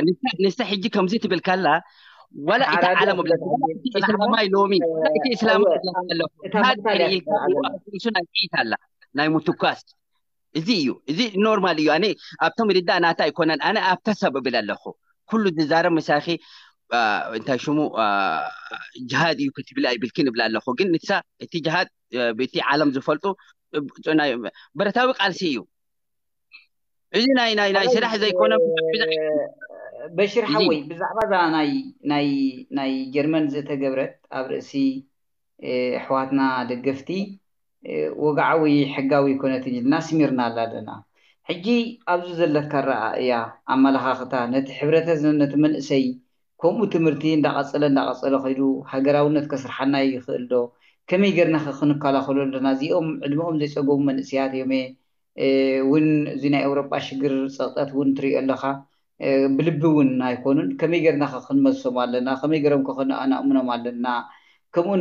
ንሳ ሕጂ ከምዚ ትብል ካላ ዋላ እቲ ዓለም ብለካ እስላማይ ሎሚ እቲ እስላማይ ኣለኹ ጅሃድ ኢልካ ርእሱ ናይ ጽኢት ኣላ ናይ ምትኳስ እዚ እዩ። እዚ ኖርማል እዩ። ኣነ ኣብቶም ርዳእ ናታ ኣይኮነን። ኣነ ኣብታ ሰብ እብል ኣለኹ። ኩሉ ዝዛረብ ምሳኺ እንታይ ሽሙ ጅሃድ እዩ ክትብል ኣይብልክን እብል ኣለኹ። ግን ንሳ እቲ ጅሃድ ብቲ ዓለም ዝፈልጡ ብረታዊ ቃልሲ እዩ። እዚ ናይ ናይ ናይ ስራሕ ዘይኮነ በሽር ሓወይ ብዛዕባ እዛ ናይ ናይ ናይ ጀርመን ዝተገብረት ኣብ ርእሲ ኣሕዋትና ደገፍቲ ወግዓዊ ሕጋዊ ኣይኮነትን ኢልና ስሚርናላ ኣለና። ሕጂ ኣብዚ ዘለካ ኣረኣእያ ኣመለኻኽታ ነቲ ሕብረተሰብ ነቲ መንእሰይ ከምኡ ትምህርቲ እንዳቐጸለ እንዳቐጸለ ከይዱ ሃገራውነት ከስርሓና ይኽእል ዶ? ከመይ ጌርና ኸ ክንከላኸሎ ኣለና? እዚኦም ዕድመኦም ዘይጸገቡ መንእሰያት እዮም እውን እዚ ናይ ኤውሮጳ ሽግር ጸቕጠት እውን ትሪኦ ኣለኻ። ብልቢ እውን ኣይኮኑን። ከመይ ጌርና ከ ክንመልሶም ኣለና? ከመይ ገይሮም ከ ከነኣናእምኖም ኣለና? ከምኡ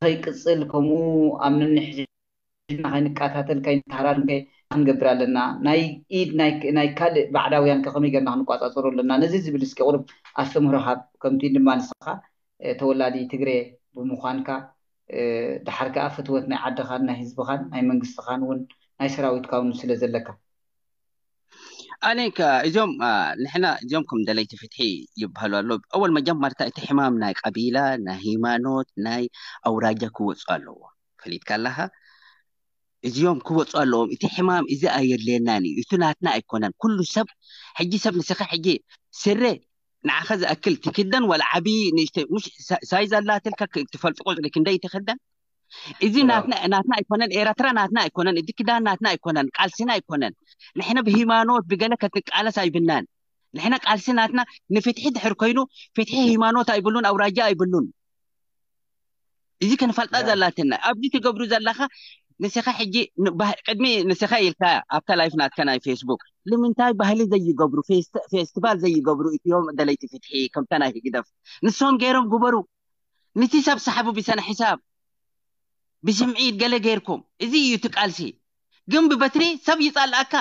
ንኸይቅጽል፣ ከምኡ ኣብ ነንሕድሕድና ከይንቀታተል፣ ከይንተሃራረም ከ ክንገብር ኣለና? ናይ ኢድ ናይ ካልእ ባዕዳውያን ከ ከመይ ጌርና ክንቋጻጸሩ ኣለና? ነዚ ዝብል እስኪ ቁሩብ ኣስተምህሮ ሃብ። ከምቲ ድማ ንስኻ ተወላዲ ትግሬ ብምዃንካ፣ ድሓር ከኣ ፍትወት ናይ ዓድኻን ናይ ህዝብኻን ናይ መንግስትኻን እውን ናይ ሰራዊትካ እውን ስለ ዘለካ። ኣነ ከ እዞም ንሕና እዚኦም ከም ደለይቲ ፍትሒ ይበሃሉ ኣሎ። ኣወል መጀመርታ እቲ ሕማም ናይ ቀቢላ፣ ናይ ሃይማኖት፣ ናይ ኣውራጃ ክወፁ ኣለዎ። ፈሊጥካ ኣለኻ? እዚኦም ክወፁ ኣለዎም። እቲ ሕማም እዚ ኣየድልየናን እዩ። እቲ ናትና ኣይኮነን። ኩሉ ሰብ ሕጂ ሰብ ንስኻ ሕጂ ስረ ንዓኻ ዝኣክል ትክደን ዋላ ዓብዪ ንእሽተይ ሙሽ ሳይዝ ኣላትልካ ትፈልጡ ቁፅሪ ክንደይ ትክደን? እዚ ናትና ኣይኮነን። ኤረትራ ናትና ኣይኮነን። እቲ ክዳን ናትና ኣይኮነን። ቃልሲና ኣይኮነን። ንሕና ብሃይማኖት ብገለ ከትቃለስ ኣይብናን። ንሕና ቃልሲ ናትና ንፍትሒ ድሕር ኮይኑ ፍትሒ ሃይማኖት ኣይብሉን፣ ኣውራጃ ኣይብሉን። እዚ ክንፈልጣ ዘላትና ኣብዚ ትገብሩ ዘለኻ ንስኻ ሕጂ ቅድሚ ንስኻ ኢልካ ኣብታ ላይፍ ናትካ ናይ ፌስቡክ ንምንታይ ባህሊ ዘይገብሩ ፌስቲቫል ዘይገብሩ እትዮም ደለይቲ ፍትሒ ከምታ ናይ ህግደፍ ንሶም ገይሮም ግበሩ። ንቲ ሰብ ሰሓቡ ብሰነ ሕሳብ ብስምዒት ገለ ገይርኩም እዚ እዩ እቲ ቃልሲ። ግን ብበትሪ ሰብ ይጻልኣካ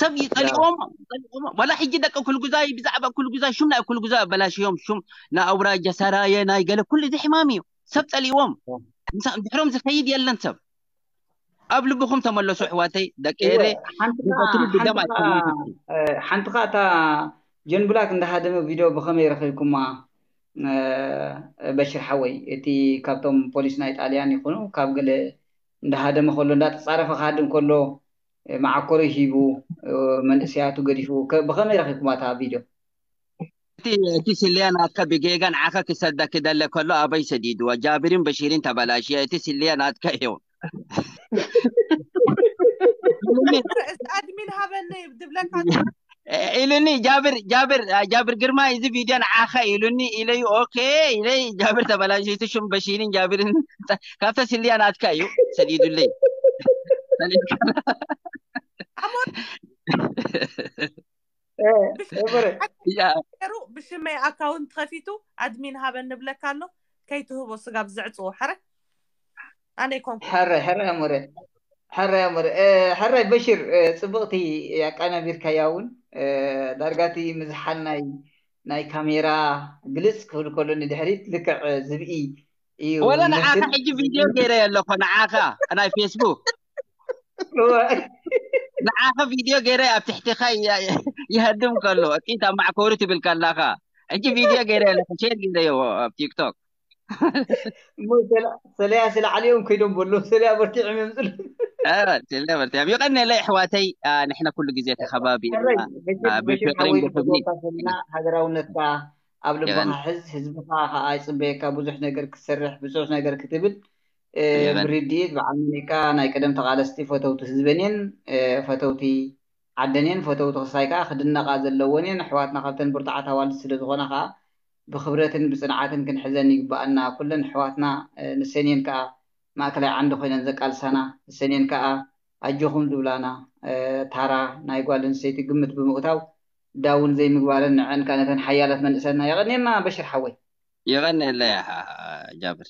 ሰብ ይጸልዎም ጸልዎም ዋላ ሕጂ ደቂ ኩልጉዛይ ብዛዕባ ኩልጉዛይ ሹም ናይ ኩልጉዛይ ኣበላሽዮም ሹም ናይ ኣውራጃ ሰራየ ናይ ገለ ኩሉ እዚ ሕማም እዩ። ሰብ ጸልዎም ድሕሮም ዝኸይድ የለን ሰብ ኣብ ልብኹም ተመለሱ ኣሕዋተይ ደቂ ኤረ ብበትሪ ብደም ኣይኮነን። ሓንቲ ከ እታ ጀን ብላክ እንዳሃደመ ቪድዮ ብኸመይ ረኺብኩማ? በሽር ሓወይ እቲ ካብቶም ፖሊስ ናይ ጣልያን ይኹኑ ካብ ገለ እንዳሃደመ ከሎ እንዳተፃረፈ ክሃድም ከሎ መዓኮሪ ሂቡ መንእሰያቱ ገዲፉ ብኸመይ ረኺብኩማ እታ ቪድዮ? እቲ እቲ ስልያ ናትካ ብጌጋ ንዓኻ ክሰዳ ክደለ ከሎ ኣበይ ሰዲድዋ? ጃብርን በሺርን ተበላሽያ። እቲ ስልያ ናትካ እዩ። ኣድሚን ሃበኒ ድብለካ ኢሉኒ ጃብር ጃብር ጃብር ግርማ እዚ ቪድዮ ንዓኻ ኢሉኒ ኢለዩ። ኦኬ ኢለይ ጃብር ተበላሽቱ ሽም በሺርን ጃብርን ካብታ ስልያ ናትካ እዩ ሰዲዱለይ። ሩ ብሽመይ ኣካውንት ከፊቱ ኣድሚን ሃበኒ ብለካ ኣሎ። ከይትህቦ ስጋብ ዘዕፅዎ ሕረ ኣነ ይኮንኩ ሕረ ሕረ ኣሞረ ሕረ ኣሞረ ሕራይ በሽር ጽብቕቲ ኣቃናቢርካያ እውን ዳርጋቲ ምዝሓል ናይ ናይ ካሜራ ግልጽ ክብል ከሎ ንድሕሪት ልክዕ ዝብኢ እዩ ወላ ንዓኻ ሕጂ ቪድዮ ገይረ ኣለኮ ንዓኻ ናይ ፌስቡክ ንዓኸ ቪድዮ ገይረ ኣብ ትሕትኻ ይሃድም ከሎ እጢት ኣብ ማዕኮሪ ትብል ከላኻ ሕጂ ቪድዮ ገይረ ኣለኹ ሼር ገይረዮ ኣብ ቲክቶክ ሰለያ ስለ ዓሊኦም ከይዶም በሎ ሰለያ በርቲዖም እዮም ዝሉ ሰለያ በርቲዖም ይቐነለ ኣሕዋተይ ንሕና ኩሉ ግዜ ተኸባቢርና ብፍቅርን ብክብሪ ሃገራውነትካ ኣብ ልብኻ ሕዝ ህዝብኻ ከዓ ይፅበየካ ብዙሕ ነገር ክትሰርሕ ብዙሕ ነገር ክትብል ብርድኢት ብዓል መኒካ ናይ ቀደም ተቓለስቲ ፈተውቲ ህዝበን እየን ፈተውቲ ዓደን እየን ፈተውቲ ክስታይ ከዓ ክድነቓ ዘለወን እየን ኣሕዋትና ካብተን ብርቱዓት ኣዋልድ ስለ ዝኾና ከዓ ብክብረትን ብፅንዓትን ክንሕዘን ይግበኣና ኩለን ኣሕዋትና ንሰን እየን ከዓ ማእከላይ ዓንዲ ኮይነን ዘቃልሳና ንሰን እየን ከዓ ኣጆኹም ዝብላና ታራ ናይ ጓል ኣንስተይቲ ግምት ብምእታው ዳውን ዘይምግባረን ንዐን ከዓ ነተን ሓያላት መንእሰና የቐንየልና በሽር ሓወይ የቐንየለይ ጃብር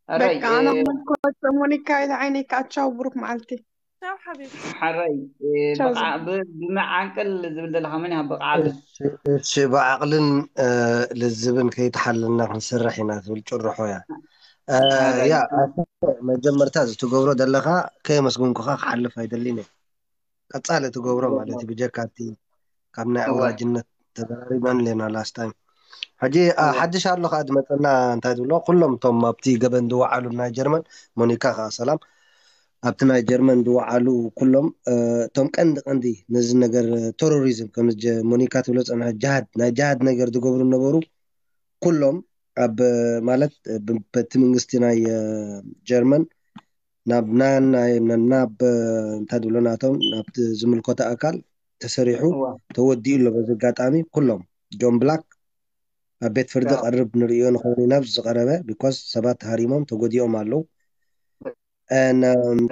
በቃ ኣነ መልኮት ሞኒካ ኢለ ዓይነይ ከዓ ቻው ብሩክ መዓልቲ ቻው ሓቢቢ ሓራይ ብመዓንቅል ዝብል ዘለካ መን ይሃብ ብቃል እሺ ብዓቕልን ልዝብን ከይተሓለልና ክንሰርሕ ኢና ትብል ጭርሖ እያ ያ መጀመርታ ዝትገብሮ ዘለካ ከየመስግንኩካ ክሓልፍ ኣይደልን እየ ቀፃሊ ትገብሮ ማለት እዩ ብጀካ እቲ ካብ ናይ ኣውራጅነት ተዘራሪበን ኣለና last time ሕጂ ሓድሽ ኣሎ ከዓ ዝመፀና እንታይ ትብሎ ኩሎም እቶም ኣብቲ ገበን ዝወዓሉ ናይ ጀርመን ሞኒካ ከዓ ሰላም ኣብቲ ናይ ጀርመን ዝወዓሉ ኩሎም እቶም ቀንዲ ቀንዲ ነዚ ነገር ቴሮሪዝም ከም ሞኒካ ትብሎ ፀንሐ ጅሃድ ናይ ጅሃድ ነገር ዝገብሩ ነበሩ ኩሎም ኣብ ማለት በቲ መንግስቲ ናይ ጀርመን ናብ ናብ እንታይ ዝብሎ ናቶም ናብቲ ዝምልከቶ ኣካል ተሰሪሑ ተወዲኡ ኣሎ በዚ ኣጋጣሚ ኩሎም ጆን ብላክ ኣብ ቤት ፍርዲ ቀርብ ንርእዮ ንኸውን ኢና ኣብዚ ዝቀረበ because ሰባት ሃሪሞም ተጎዲኦም ኣለዉ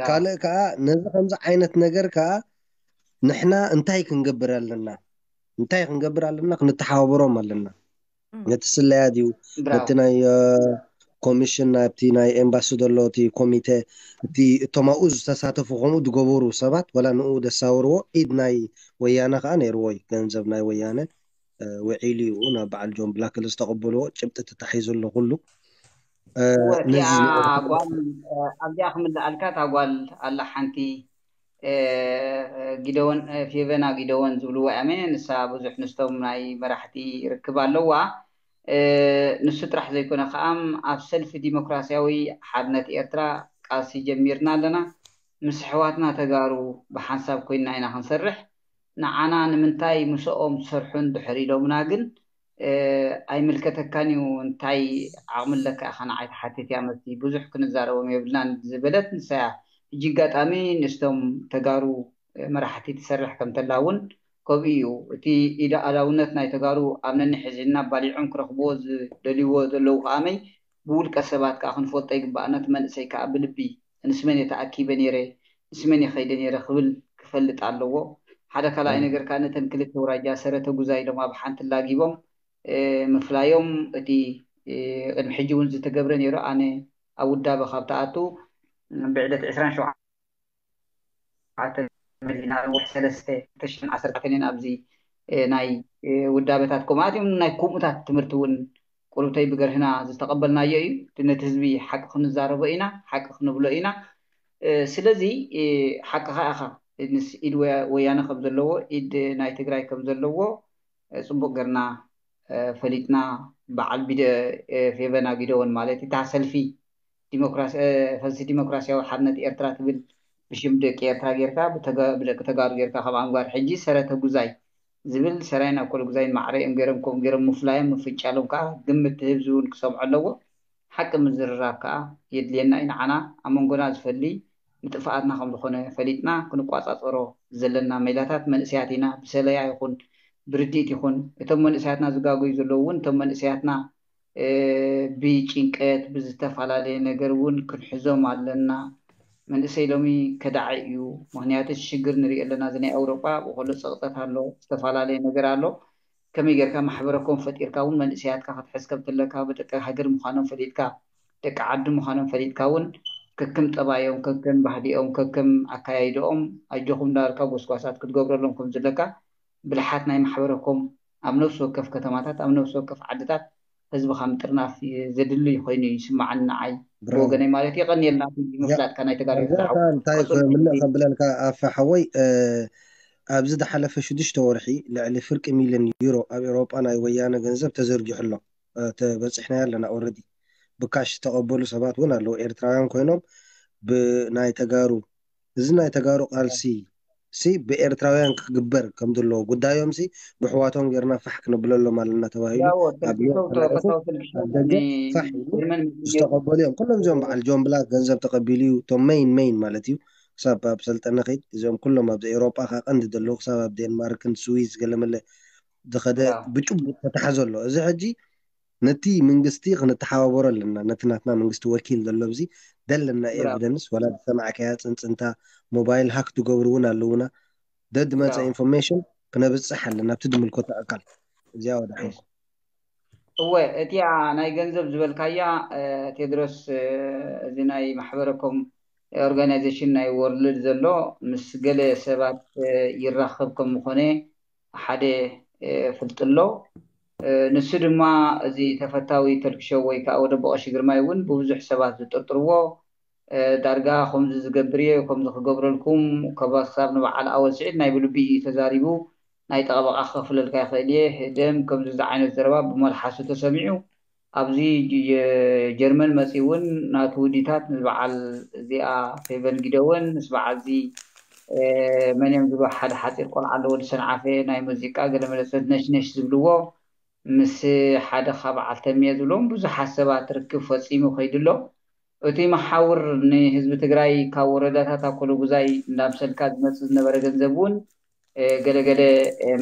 ካልእ ከዓ ነዚ ከምዚ ዓይነት ነገር ከዓ ንሕና እንታይ ክንገብር ኣለና? እንታይ ክንገብር ኣለና? ክንተሓባበሮም ኣለና። ነቲ ስለያ ድዩ፣ ነቲ ናይ ኮሚሽን፣ ናብቲ ናይ ኤምባሲ ዘሎ እቲ ኮሚቴ፣ እቲ እቶም ኣብኡ ዝተሳተፉ ከምኡ ዝገበሩ ሰባት፣ ወላ ንኡ ደሳወርዎ፣ ኢድ ናይ ወያነ ከዓ ነይርዎ እዩ። ገንዘብ ናይ ወያነ ውዒሉ እዩ። ናብ በዓል ጆን ብላክል ዝተቐበልዎ ጭብጢ ተታሒዙ ኣሎ ኩሉ። ጓል ኣብዚኣ ክምልኣልካ፣ እታ ጓል ኣላ ሓንቲ፣ ጊደወን፣ ፌቨና ጊደወን ዝብልዋ እያ። ንሳ ብዙሕ ምስቶም ናይ መራሕቲ ርክብ ኣለዋ። ንሱ ጥራሕ ዘይኮነ ከኣም ኣብ ሰልፊ ዲሞክራሲያዊ ሓርነት ኤርትራ ቃልሲ ጀሚርና ኣለና። ምስ ኣሕዋትና ተጋሩ ብሓንሳብ ኮይንና ኢና ክንሰርሕ። ንዓና ንምንታይ ምስኦም ትሰርሑ እንድሕር ኢሎምና ግን ኣይምልከተካን እዩ፣ እንታይ ዓቕሚ ኣለካ ኢኻ ንዓይ ትሓትት እያ መስቲ፣ ብዙሕ ክንዛረቦም የብልናን ዝበለት ንሳ እያ። ሕጂ ኣጋጣሚ ንስቶም ተጋሩ መራሕቲ ትሰርሕ ከም ተላ እውን ከምኡ እዩ። እቲ ኢደ ኣላውነት ናይ ተጋሩ ኣብ ነንሕዝና ባሊዖም ክረኽብዎ ዝደልይዎ ዘለዉ ከኣመይ ብውልቀ ሰባት ከዓ ክንፈልጦ ይግባእ። ነቲ መንእሰይ ከዓ ብልቢ ንስመን እየ ተኣኪበ ነይረ፣ ንስመን እየ ከይደ ነይረ ክብል ክፈልጥ ኣለዎ። ሓደ ካልኣይ ነገር ከዓ ነተን ክልተ ውራጃ ሰረተ ጉዛ ኢሎም ኣብ ሓንቲ ላጊቦም ምፍላዮም እቲ ቅድሚ ሕጂ እውን ዝተገብረ ነይሩ። ኣነ ኣብ ውዳበ ካብ ተኣቱ ብዕለት ዕስራን ሸውዓተ መዲና ወርሒ ሰለስተ ክልተ ሽሕን ዓሰርተ ኣርባዕተን ኣብዚ ናይ ውዳበታት ከምኡት እዮም ናይ ከምኡታት ትምህርቲ እውን ቁሩብተይ ብገርህና ዝተቐበልናዮ እዩ። ነቲ ህዝቢ ሓቂ ክንዛረቦ ኢና፣ ሓቂ ክንብሎ ኢና። ስለዚ ሓቅኻ ኢኻ፣ ምስ ኢድ ወያነ ከም ዘለዎ ኢድ ናይ ትግራይ ከም ዘለዎ ፅቡቅ ገርና ፈሊጥና። በዓል ፌቨና ጊደወን ማለት እታ ሰልፊ ፈልሲ ዲሞክራሲያዊ ሓርነት ኤርትራ ትብል ብሽም ደቂ ኤርትራ ጌርካ ብደቂ ተጋሩ ጌርካ ከም ኣምጋር ሕጂ ሰረተ ጉዛይ ዝብል ሰራይን ኣኮለ ጉዛይን ማዕረ እዮም ገይሮም ከምኡ ገይሮም ምፍላዮም ምፍንጫሎም ከዓ ግምት ህዝቢ እውን ክሰምዖ ኣለዎ። ሓቂ ምዝርራብ ከዓ የድልየና እዩ። ንዓና ኣብ መንጎና ዝፈሊ ንጥፍኣትና ከም ዝኾነ ፈሊጥና ክንቋፃፀሮ ዘለና ሜላታት መንእሰያት ኢና። ብሰለያ ይኹን ብርድኢት ይኹን እቶም መንእሰያትና ዝጋገዩ ዘለዉ እውን እቶም መንእሰያትና ብጭንቀት ብዝተፈላለየ ነገር እውን ክንሕዞም ኣለና። መንእሰይ ሎሚ ከዳዒ እዩ። ምክንያቱ ሽግር ንሪኦ ኣለና። እዚ ናይ ኣውሮጳ ብኮሎ ፀቕጠት ኣሎ፣ ዝተፈላለየ ነገር ኣሎ። ከመይ ጌርካ ማሕበረኮም ፈጢርካ እውን መንእሰያትካ ክትሕዝ ከም ትለካ ብደቂ ሃገር ምዃኖም ፈሊጥካ ደቂ ዓዲ ምዃኖም ፈሊጥካ እውን ከከም ጠባዮም ከከም ባህሊኦም ከከም ኣካያይደኦም ኣጆኹም እንዳበልካ ጎስጓሳት ክትገብረሎም ከም ዝለካ ብልሓት ናይ ማሕበረኮም ኣብ ነፍሲ ወከፍ ከተማታት ኣብ ነፍሲ ወከፍ ዓድታት ህዝብኻ ምጥርናፍ ዘድሊ ኮይኑ ይስማዓኒ ንዓይ ብወገነይ ማለት የቐንየልና ምፍላጥካ ናይ ተጋሩ እንታይ ምልእ ከብለልካ ኣፈ ሓወይ ኣብዚ ዝሓለፈ ሽዱሽተ ወርሒ ልዕሊ ፍርቂ ሚልዮን ዩሮ ኣብ ኤውሮጳ ናይ ወያነ ገንዘብ ተዘርጊሑ ኣሎ። ተበፂሕናዮ ኣለና ኦረዲ ብካሽ ዝተቐበሉ ሰባት እውን ኣለዉ ኤርትራውያን ኮይኖም ብናይ ተጋሩ እዚ ናይ ተጋሩ ቃልሲ ሲ ብኤርትራውያን ክግበር ከም ዘለዎ ጉዳዮም ሲ ብሕዋቶም ጌርና ፋሕ ክነብለሎም ኣለና ተባሂሉ ኣብ ፋሕ ዝተቐበሉ እዮም። ኩሎም እዚኦም በዓል ጆን ብላክ ገንዘብ ተቐቢሉ እዩ። እቶም መይን መይን ማለት እዩ። ክሳብ ኣብ ሰልጠነ ከይድ እዚኦም ኩሎም ኣብዚ ኤውሮጳ ከ ቀንዲ ዘለዉ ክሳብ ኣብ ዴንማርክን ስዊዝ ገለመለ ዝኸደ ብጭቡጥ ተታሓዘ ኣሎ። እዚ ሕጂ ነቲ መንግስቲ ክንተሓባበሮ ኣለና። ነቲ ናትና መንግስቲ ወኪል ዘሎ ኣብዚ ደለና ኤቪደንስ ወላ ዝሰማዕካያ ፅንፅንታ ሞባይል ሃክ ዝገብሩ እውን ኣለውና። ደድመፀ ኢንፎርሜሽን ክነብፅሕ ኣለና ኣብቲ ዝምልከቶ ኣካል። እዚኣ ወደ ሓይል እወ እቲኣ ናይ ገንዘብ ዝበልካያ ቴድሮስ እዚ ናይ ማሕበረኮም ኦርጋናይዜሽን ናይ ወርልድ ዘሎ ምስ ገለ ሰባት ይራኸብ ከም ምኾነ ሓደ ፍልጥ ኣሎ። ንሱ ድማ እዚ ተፈታዊ ተልክሾ ወይ ከዓ ወደ በቐሺ ግርማይ እውን ብብዙሕ ሰባት ዝጥርጥርዎ ዳርጋ ከምዚ ዝገብር እየ ከምዚ ክገብረልኩም ከባ ክሳብ ንበዓል ኣወል ስዒድ ናይ ብልቢ እዩ ተዛሪቡ። ናይ ጠበቃ ክኸፍለልካ ይኽእል እየ ህደም ከምዚ ዝዓይነት ዘረባ ብመልሓሱ ተሰሚዑ ኣብዚ ጀርመን መፂ እውን ናቱ ውዲታት ምስ በዓል እዚኣ ፌቨን ጊደወን ምስ በዓል እዚ መን እዮም ዝብሎ ሓደ ሓፂር ቆልዓ ኣሎ ወዲ ሰንዓፈ ናይ ሙዚቃ ገለመለ ሰብ ነሽነሽ ዝብልዎ ምስ ሓደ ካብ በዓል ተምየ ዝብሎም ብዙሓት ሰባት ርክብ ፈፂሙ ከይዱ ኣሎ። እቲ መሓውር ንህዝቢ ትግራይ ካብ ወረዳታት ኣኮሎ ጉዛይ እንዳምሰልካ ዝመፅእ ዝነበረ ገንዘብ እውን ገለገለ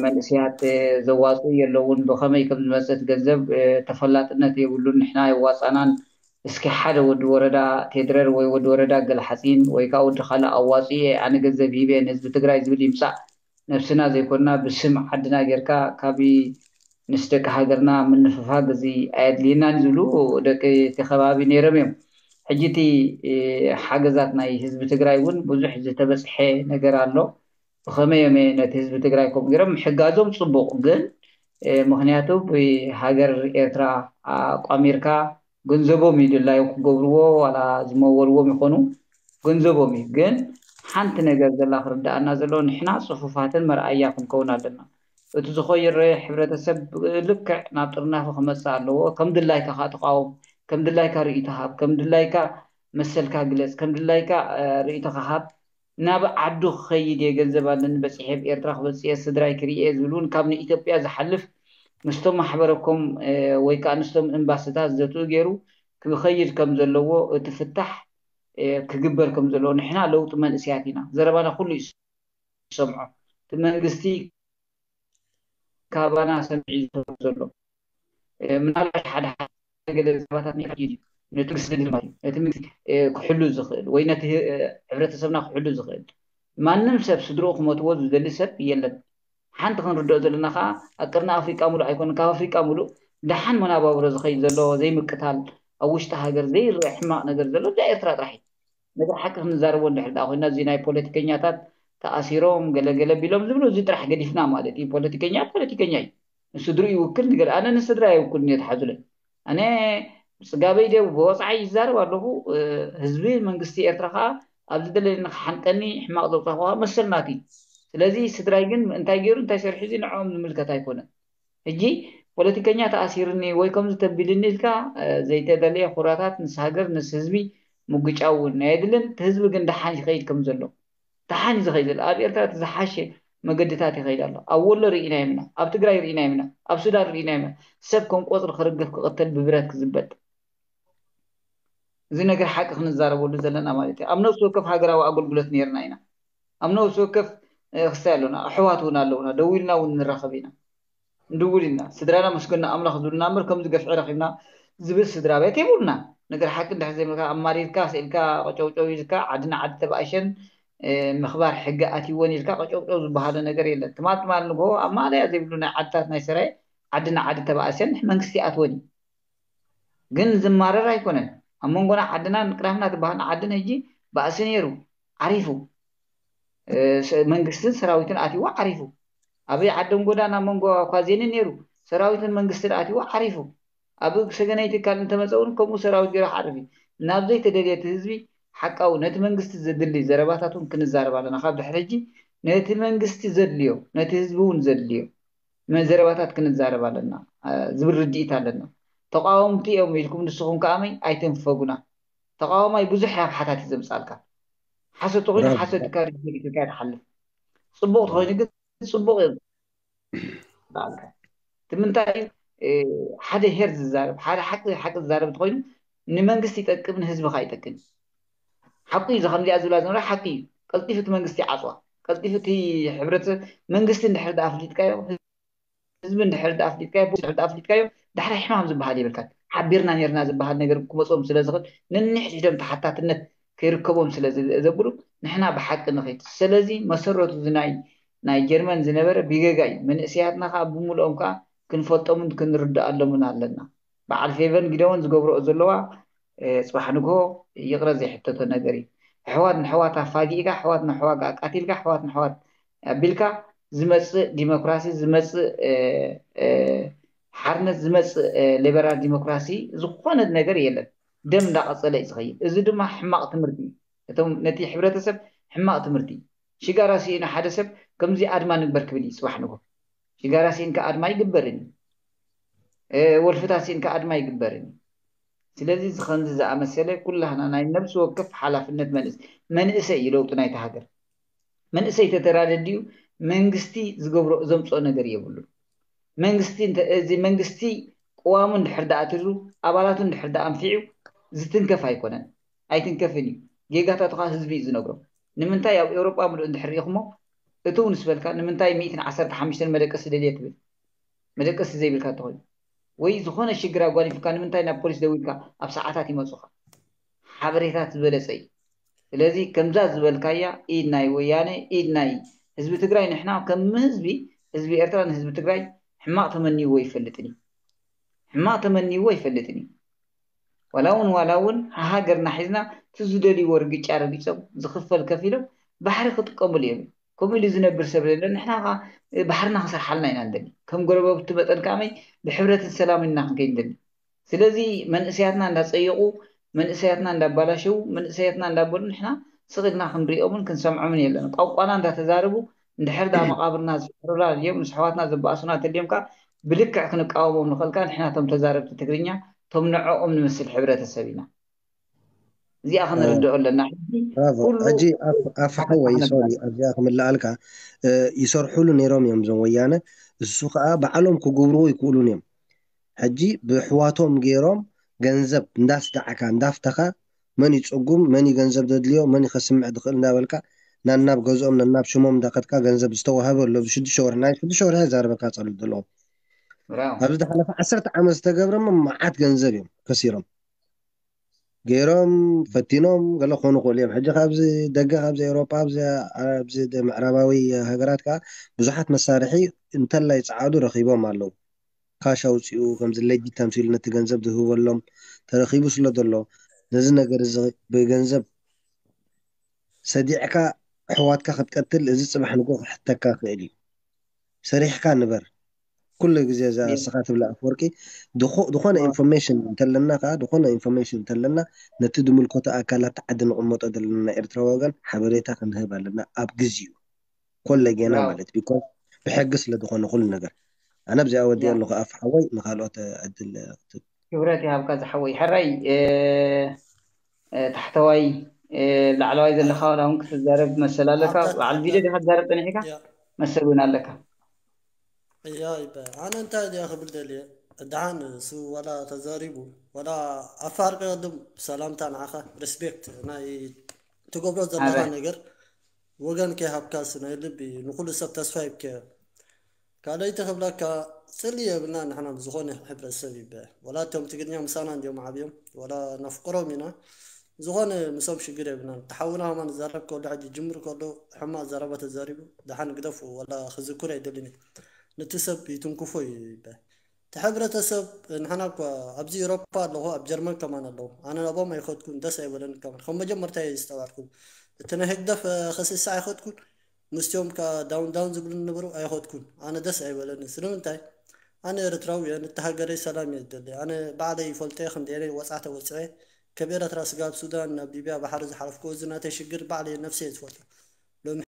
መንእሰያት ዘዋፅኡ የለውን። ብኸመይ ከም ዝመፅእ እቲ ገንዘብ ተፈላጥነት የብሉን። ንሕና የዋፃእናን እስኪ ሓደ ወዲ ወረዳ ቴድረር ወይ ወዲ ወረዳ ገልሓፂን ወይ ከዓ ወዲ ካልእ ኣዋፅኡ እየ ኣነ ገንዘብ ሂበ ንህዝቢ ትግራይ ዝብል ይምፃእ ነብስና ዘይኮንና ብስም ዓድና ጌርካ ካብ ምስ ደቂ ሃገርና ምንፍፋግ እዚ ኣየድልየናን ዝብሉ ደቂ እቲ ከባቢ ነይሮም እዮም። ሕጂ እቲ ሓገዛት ናይ ህዝቢ ትግራይ እውን ብዙሕ ዝተበፅሐ ነገር ኣሎ። ብኸመይ እዮም ነቲ ህዝቢ ትግራይ ከምኡ ገይሮም ምሕጋዞም ፅቡቕ፣ ግን ምክንያቱ ብሃገር ኤርትራ ኣቋሚርካ ገንዘቦም እዩ ድላዮም ክገብርዎ ዋላ ዝመወልዎም ይኾኑ ገንዘቦም እዩ። ግን ሓንቲ ነገር ዘላ ክርዳኣና ዘሎ ንሕና ፅፉፋትን መርኣያ ክንከውን ኣለና። እቲ ዝኾይረ ሕብረተሰብ ልክዕ ናብ ጥርናፈ ክመፅእ ኣለዎ። ከም ድላይካ ከዓ ተቃወም፣ ከም ድላይካ ርእይቶ ሃብ፣ ከም ድላይካ መሰልካ ግለፅ፣ ከም ድላይካ ርእይቶካ ሃብ። ናብ ዓዱ ክኸይድ እየ፣ ገንዘብ ኣለኒ በፂሐ ኣብ ኤርትራ ክበፅእ እየ፣ ስድራይ ክርኢ እየ ዝብል እውን ካብ ንኢትዮጵያ ዝሓልፍ ምስቶም ማሕበረኮም ወይ ከዓ ንስቶም ኤምባስታት ዘትኡ ገይሩ ክኸይድ ከም ዘለዎ እቲ ፍታሕ ክግበር ከም ዘለዎ ንሕና ለውጢ መንእሰያት ኢና። ዘረባና ኩሉ ይሰምዖ። እቲ መንግስቲ ካባና ሰሚዑ ዘሎ ምናልባት ሓደ ሓደ ገለ ዘረባታት ናይ እዩ ነቲ መንግስቲ ዘድሊ ማለት እዩ። ነቲ መንግስቲ ክሕሉ ዝኽእል ወይ ነቲ ሕብረተሰብና ክሕሉ ዝኽእል ማንም ሰብ ስድርኡ ክመትዎ ዝደሊ ሰብ የለን። ሓንቲ ክንርድኦ ዘለና ከዓ ኣብ ቀርኒ ኣፍሪቃ ሙሉእ ኣይኮነን፣ ካብ ኣፍሪቃ ሙሉእ ደሓን መናባብሮ ዝኸይድ ዘሎ ዘይምቅታል ኣብ ውሽጢ ሃገር ዘይረአ ሕማቕ ነገር ዘሎ እዛ ኤርትራ ጥራሕ እዩ። ነገር ሓቂ ክንዛረቦ እንድሕር ደኣ ኮይና እዚ ናይ ፖለቲከኛታት ተኣሲሮም ገለገለ ቢሎም ዝብሉ እዚ ጥራሕ ገዲፍና ማለት እዩ። ፖለቲከኛ ፖለቲከኛ እዩ። ንስድርኡ ይውክል ንገለ ኣነ ንስድራ ይውክል እየ ተሓዙለይ። ኣነ ብፅጋበይ ደ ብወፃዓይ ይዛረብ ኣለኹ። ህዝቢ መንግስቲ ኤርትራ ከዓ ኣብ ዝደለኒ ክሓንቀኒ ሕማቕ ዘውፃእኩ ከዓ መሰል ናቱ እዩ። ስለዚ ስድራይ ግን እንታይ ገይሩ እንታይ ሰሪሑ እዚ ንዕኦም ዝምልከት ኣይኮነን። ሕጂ ፖለቲከኛ ተኣሲሩኒ ወይ ከምዚ ተቢልኒ ኢልካ ዘይተደለየ ኩራታት ምስ ሃገር ምስ ህዝቢ ምጉጫው እውን ኣየድልን። እቲ ህዝቢ ግን ደሓን ይኸይድ ከም ዘሎ ደሓን እዩ ዝኸይድ ዘሎ። ኣብ ኤርትራ እቲ ዝሓሸ መገድታት ይኸይድ ኣሎ። ኣብ ወሎ ርኢናዮም ኢና፣ ኣብ ትግራይ ርኢናዮም ኢና፣ ኣብ ሱዳን ርኢናዮም ኢና። ሰብ ከም ቆፅሪ ክርግፍ ክቕተል ብብረት ክዝበጥ እዚ ነገር ሓቂ ክንዛረበሉ ዘለና ማለት እዩ። ኣብ ነፍሲ ወከፍ ሃገራዊ ኣገልግሎት ነይርና ኢና። ኣብ ነፍሲ ወከፍ ክስታይ ኣሎና፣ ኣሕዋት እውን ኣለውና፣ ደው ኢልና እውን ንራኸብ ኢና። ንድውል ኢና። ስድራና መስገና ኣምላኽ ዝብልና እምበር ከምዚ ገፍዒ ረኺብና ዝብል ስድራ ቤት የብሉና። ነገር ሓቂ እንድሕር ዘይመልካ ኣማሪርካ ስኢልካ ቀጨውጨው ኢልካ ዓዲ ንዓዲ ተባእሸን ምኽባር ሕጊ ኣትይወን ኢልካ ቀጨውጨው ዝበሃለ ነገር የለን። ትማል ትማል ንግሆ ኣብ ማእለያ ዘይብሉ ናይ ዓድታት ናይ ሰራየ ዓዲ ንዓዲ ተባእሰን መንግስቲ ኣትወን እዩ። ግን ዝማረር ኣይኮነን። ኣብ መንጎና ዓድና ንቅዳምና ትበሃል ዓድን ሕጂ ባእሲ ነይሩ ዓሪፉ። መንግስትን ሰራዊትን ኣትይዎ ዓሪፉ። ኣብ ዓደም ጎዳና መንጎ ኳዜንን ነይሩ ሰራዊትን መንግስትን ኣትይዎ ዓሪፉ። ኣብ ሰገነይቲ ካል እንተመፀ እውን ከምኡ ሰራዊት ገይሩ ክዓርፍ እዩ። ናብ ዘይተደልየ እቲ ህዝቢ ሓቃዊ ነቲ መንግስቲ ዘድሊ ዘረባታት እውን ክንዛረብ ኣለና። ካብ ድሕሪ ሕጂ ነቲ መንግስቲ ዘድልዮ ነቲ ህዝቢ እውን ዘድልዮ ዘረባታት ክንዛረብ ኣለና ዝብል ርድኢት ኣለና። ተቃወምቲ እዮም ኢልኩም ንስኹም ከኣመይ ኣይተንፈጉና። ተቃዋማይ ብዙሕ ሓፍሓታት እዩ ዘምፃልካ። ሓሶት ተኮይኑ ሓሶት ኢልካ ሪጀክት ኢልካ ትሓልፍ። ፅቡቅ ተኮይኑ ግን ፅቡቅ እዮም። እቲ ምንታይ ሓደ ሄር ዝዛረብ ሓደ ሓቂ ሓቂ ዝዛረብ ተኮይኑ ንመንግስቲ ይጠቅም ንህዝቢ ከዓ ይጠቅም። ሓቂ እዩ። ከምዚኣ ዝብላ ዝነበራ ሓቂ እዩ። ቀልጢፉ እቲ መንግስቲ ይዓፅዋ። ቀልጢፉ እቲ ሕብረተሰብ መንግስቲ እንድሕር ደኣ ኣፍሊጥካዮ ህዝቢ እንድሕር ደኣ ኣፍሊጥካዮ ፖሊስ እንድሕር ደኣ ኣፍሊጥካዮ ዳሕራይ ሕማም ዝበሃል የብልካን። ሓቢርና ነርና ዝበሃል ነገር ክመፅኦም ስለ ዝኽእል ነንሕድሕዶም ተሓታትነት ከይርከቦም ስለ ዘብሉ ንሕና ብሓቂ ንኸይድ። ስለዚ መሰረቱ እዚ ናይ ናይ ጀርመን ዝነበረ ብጌጋ እዩ። መንእሰያትና ከዓ ብምልኦም ከዓ ክንፈልጦምን ክንርድኣሎምን ኣለና። በዓል ፌቨን ጊደዎን ዝገብረኦ ዘለዋ ፅባሕ ንግሆ ይቕረ ዘይሕተቶ ነገር እዩ። ኣሕዋት ንኣሕዋት ኣፋጊእካ ኣሕዋት ንኣሕዋት ኣቃቲልካ ኣሕዋት ንኣሕዋት ኣቢልካ ዝመፅእ ዲሞክራሲ ዝመፅእ ሓርነት ዝመፅእ ሊበራል ዲሞክራሲ ዝኾነ ነገር የለን። ደም እንዳቐፀለ እዩ ዝኸይድ። እዚ ድማ ሕማቕ ትምህርቲ እዩ። እቶም ነቲ ሕብረተሰብ ሕማቕ ትምህርቲ እዩ። ሽጋራ ስኢኑ ሓደ ሰብ ከምዚ ኣድማ ንግበር ክብል እዩ ፅባሕ ንግሆ። ሽጋራ ስኢንካ ኣድማ ይግበርን እዩ። ወልፍታት ስኢንካ ኣድማ ይግበርን እዩ። ስለዚ እዚ ከምዚ ዝኣመሰለ ኩላህና ናይ ነብሲ ወከፍ ሓላፍነት መንእስ መንእሰይ እዩ ለውጢ ናይቲ ሃገር። መንእሰይ ተተራደዲኡ መንግስቲ ዝገብሮ ዘምፅኦ ነገር የብሉን። መንግስቲ እዚ መንግስቲ ቅዋሙ እንድሕር ደኣ ኣትሩ ኣባላቱ እንድሕር ደኣ ኣንፊዑ ዝትንከፍ ኣይኮነን። ኣይትንከፍን እዩ። ጌጋታቱ ከዓ ህዝቢ እዩ ዝነግሮ። ንምንታይ ኣብ ኤውሮጳ ምሉእ እንድሕር ርኢኹሞ እትው ንስበልካ ንምንታይ ሚእትን ዓሰርተ ሓሙሽተን መደቀሲ ደልየ ትብል? መደቀሲ ዘይብልካ እንተኾይኑ ወይ ዝኾነ ሽግር ኣጓኒፍካ ንምንታይ ናብ ፖሊስ ደዊልካ ኣብ ሰዓታት ይመፁኻ? ሓበሬታት ዝበለፀ እዩ። ስለዚ ከምዛ ዝበልካያ ኢድ ናይ ወያነ ኢድ ናይ ህዝቢ ትግራይ ንሕና ከም ህዝቢ ህዝቢ ኤርትራ ንህዝቢ ትግራይ ሕማቕ ተመንይዎ ይፈልጥን እዩ። ሕማቕ ተመንይዎ ይፈልጥን እዩ። ዋላ እውን ዋላ እውን ሃሃገርና ሒዝና እቲ ዝደልይዎ ርግጫ ረጊፆም ዝኽፈል ከፊሎም ባሕሪ ክጥቀሙሉ እዮም። ከምኡ ኢሉ ዝነብር ሰብ የለን። ንሕና ከዓ ባሕርና ክሰርሓልና ኢና እንደሊ። ከም ጎረባብቲ መጠን ከዓመይ ብሕብረትን ሰላምን ኢና ክንከይድ እንደሊ። ስለዚ መንእሰያትና እንዳፀየቑ መንእሰያትና እንዳባላሸው መንእሰያትና እንዳበሉ ንሕና ስቕ ኢልና ክንሪኦምን ክንሰምዖምን የለን። ቋንቋና እንዳተዛረቡ እንድሕር ዳ መቃብርና ዝሕሩላ ድዮም ምስ ኣሕዋትና ዘባእሱና ተልዮም ከዓ ብልክዕ ክንቃወሞም ንኽእል ከዓ ንሕና ቶም ተዛረብቲ ትግርኛ ቶም ንዕኦም ንመስል ሕብረተሰብ ኢና። እዚኣ ክንርድኦ ኣለና። ሕጂ ብራቮ። ኩሉ ሕጂ ኣፍ- ኣፍ ሓወይ ሶሪ ኣብዚኣ ክምልኣልካ እ፣ ይሰርሑሉ ነይሮም እዮም እዞም ወያነ። እሱ ከዓ ባዕሎም ክገብርዎ ይክእሉን እዮም። ሕጂ ብሕዋቶም ገይሮም ገንዘብ እንዳስዳዕካ እንዳፍተኻ መን ይፀጉም መን እዩ ገንዘብ ዘድልዮ መን ከስምዕ ዝኽእል እንዳበልካ ናናብ ገዝኦም ነናብ ሽሞም እንዳኸድካ ገንዘብ ዝተዋህበ ኣሎ። ኣብዚ ሽዱሽተ ወርሒ ናይ ሽዱሽተ ወርሒ ዛረበካ ፀሉ ዘለዎም ብራው ኣብዚ ዝሓለፈ ዓሰርተ ዓመት ዝተገብረሞ መዓት ገንዘብ እዮም ከሲሮም ገይሮም ፈቲኖም ገለ ክኾኑ ክእሉ እዮም። ሕጂ ካብዚ ደገ ካብዚ ኤውሮጳ ኣብዚ ኣብዚ ምዕራባዊ ሃገራት ከዓ ብዙሓት መሳርሒ እንተላይ ጸዓዱ ረኺቦም ኣለዉ። ካሽ ኣውፂኡ ከምዚ ለጂት ተምሲሉ ነቲ ገንዘብ ዝህበሎም ተረኺቡ ስለ ዘሎ ነዚ ነገር እዚ ብገንዘብ ሰዲዕካ ኣሕዋትካ ክትቀትል እዚ ፅባሕ ንጎ ክሕተካ ክእል እዩ። ሰሪሕካ ንበር። ኩሉ ግዜ እዛ እስኻ ትብላ ኣፍወርቂ ዝኾነ ኢንፎርሜሽን እንተለና ከዓ ዝኾነ ኢንፎርሜሽን እንተለና ነቲ ዝምልከቶ ኣካላት ዓዲ ንቕመጦ ዘለና ናይ ኤርትራ ወገን ሓበሬታ ክንህብ ኣለና ኣብ ግዜኡ ኮለ ጌና ማለት ቢኮዝ ብሕጊ ስለ ዝኾነ ኩሉ ነገር ኣነ ኣብዚኣ ወዲኦ ኣለኹ ኣፍ ሓወይ ንካልኦት ዕድል ክትብ ክብረት ይሃብካ ዝሓወይ ሕራይ ታሕተዋይ ላዕለዋይ ዘለካ ዋላ እውን ክትዛረብ መሰል ኣለካ በዓል ቪድዮ ዲካ ትዛረብ ፀኒሕካ መሰል እውን ኣለካ እያ ይበ ኣነ እንታይ ድያ ክብል ደልየ ደሓን እሱ ዋላ ተዛሪቡ ዋላ ኣፋርቀ ቅድም ሰላምታ ንዓኻ ሪስፔክት ናይ ትገብሮ ዘለካ ነገር ወገን ከይሃብካስ ናይ ልቢ ንኩሉ ሰብ ተስፋ ይብከ ካልኣይቲ ክብለካ ስሊ የብልና ንሕና ብዝኾነ ሕብረተሰብ ይበ ወላ እቶም ትግርኛ ምሳና እንዲዮም ዓብዮም ወላ ነፍቅሮም ኢና ዝኾነ ምሶም ሽግር የብልናን ተሓውና ከማን ዝዛረብ ከሎ ሕጂ ጅምር ከሎ ሕማቅ ዘረባ ተዛሪቡ ደሓን ግደፉ ወላ ክዝክሮ ኣይደልን ነቲ ሰብ ይትንክፎ እዩ ይበ እቲ ሕብረተሰብ ንሕና እኳ ኣብዚ ኤሮፓ ኣለኹ ኣብ ጀርመን ከማን ኣለኹ ኣነ ናብኦም ኣይኸድኩን ደስ ኣይበለን ከማን ከም መጀመርታ እየ ዝስተባዕልኩም እቲ ናይ ህግደፍ ክስሳ ኣይኸድኩን ምስቲኦም ከ ዳውን ዳውን ዝብሉ ነበሩ ኣይኸድኩን ኣነ ደስ ኣይበለኒ ስለምንታይ ኣነ ኤርትራዊ እየ ነቲ ሃገረይ ሰላም እየ ዝደሊ ኣነ ባዕለይ ይፈልጦ እየ ክንደየናይ ወፅዓ ተወፅዐ ካብ ኤርትራ ስጋብ ሱዳን ናብ ሊብያ ባሕሪ ዝሓለፍኩ እዚ ናተይ ሽግር ባዕለይ ነብሰይ እየ ዝፈልጦ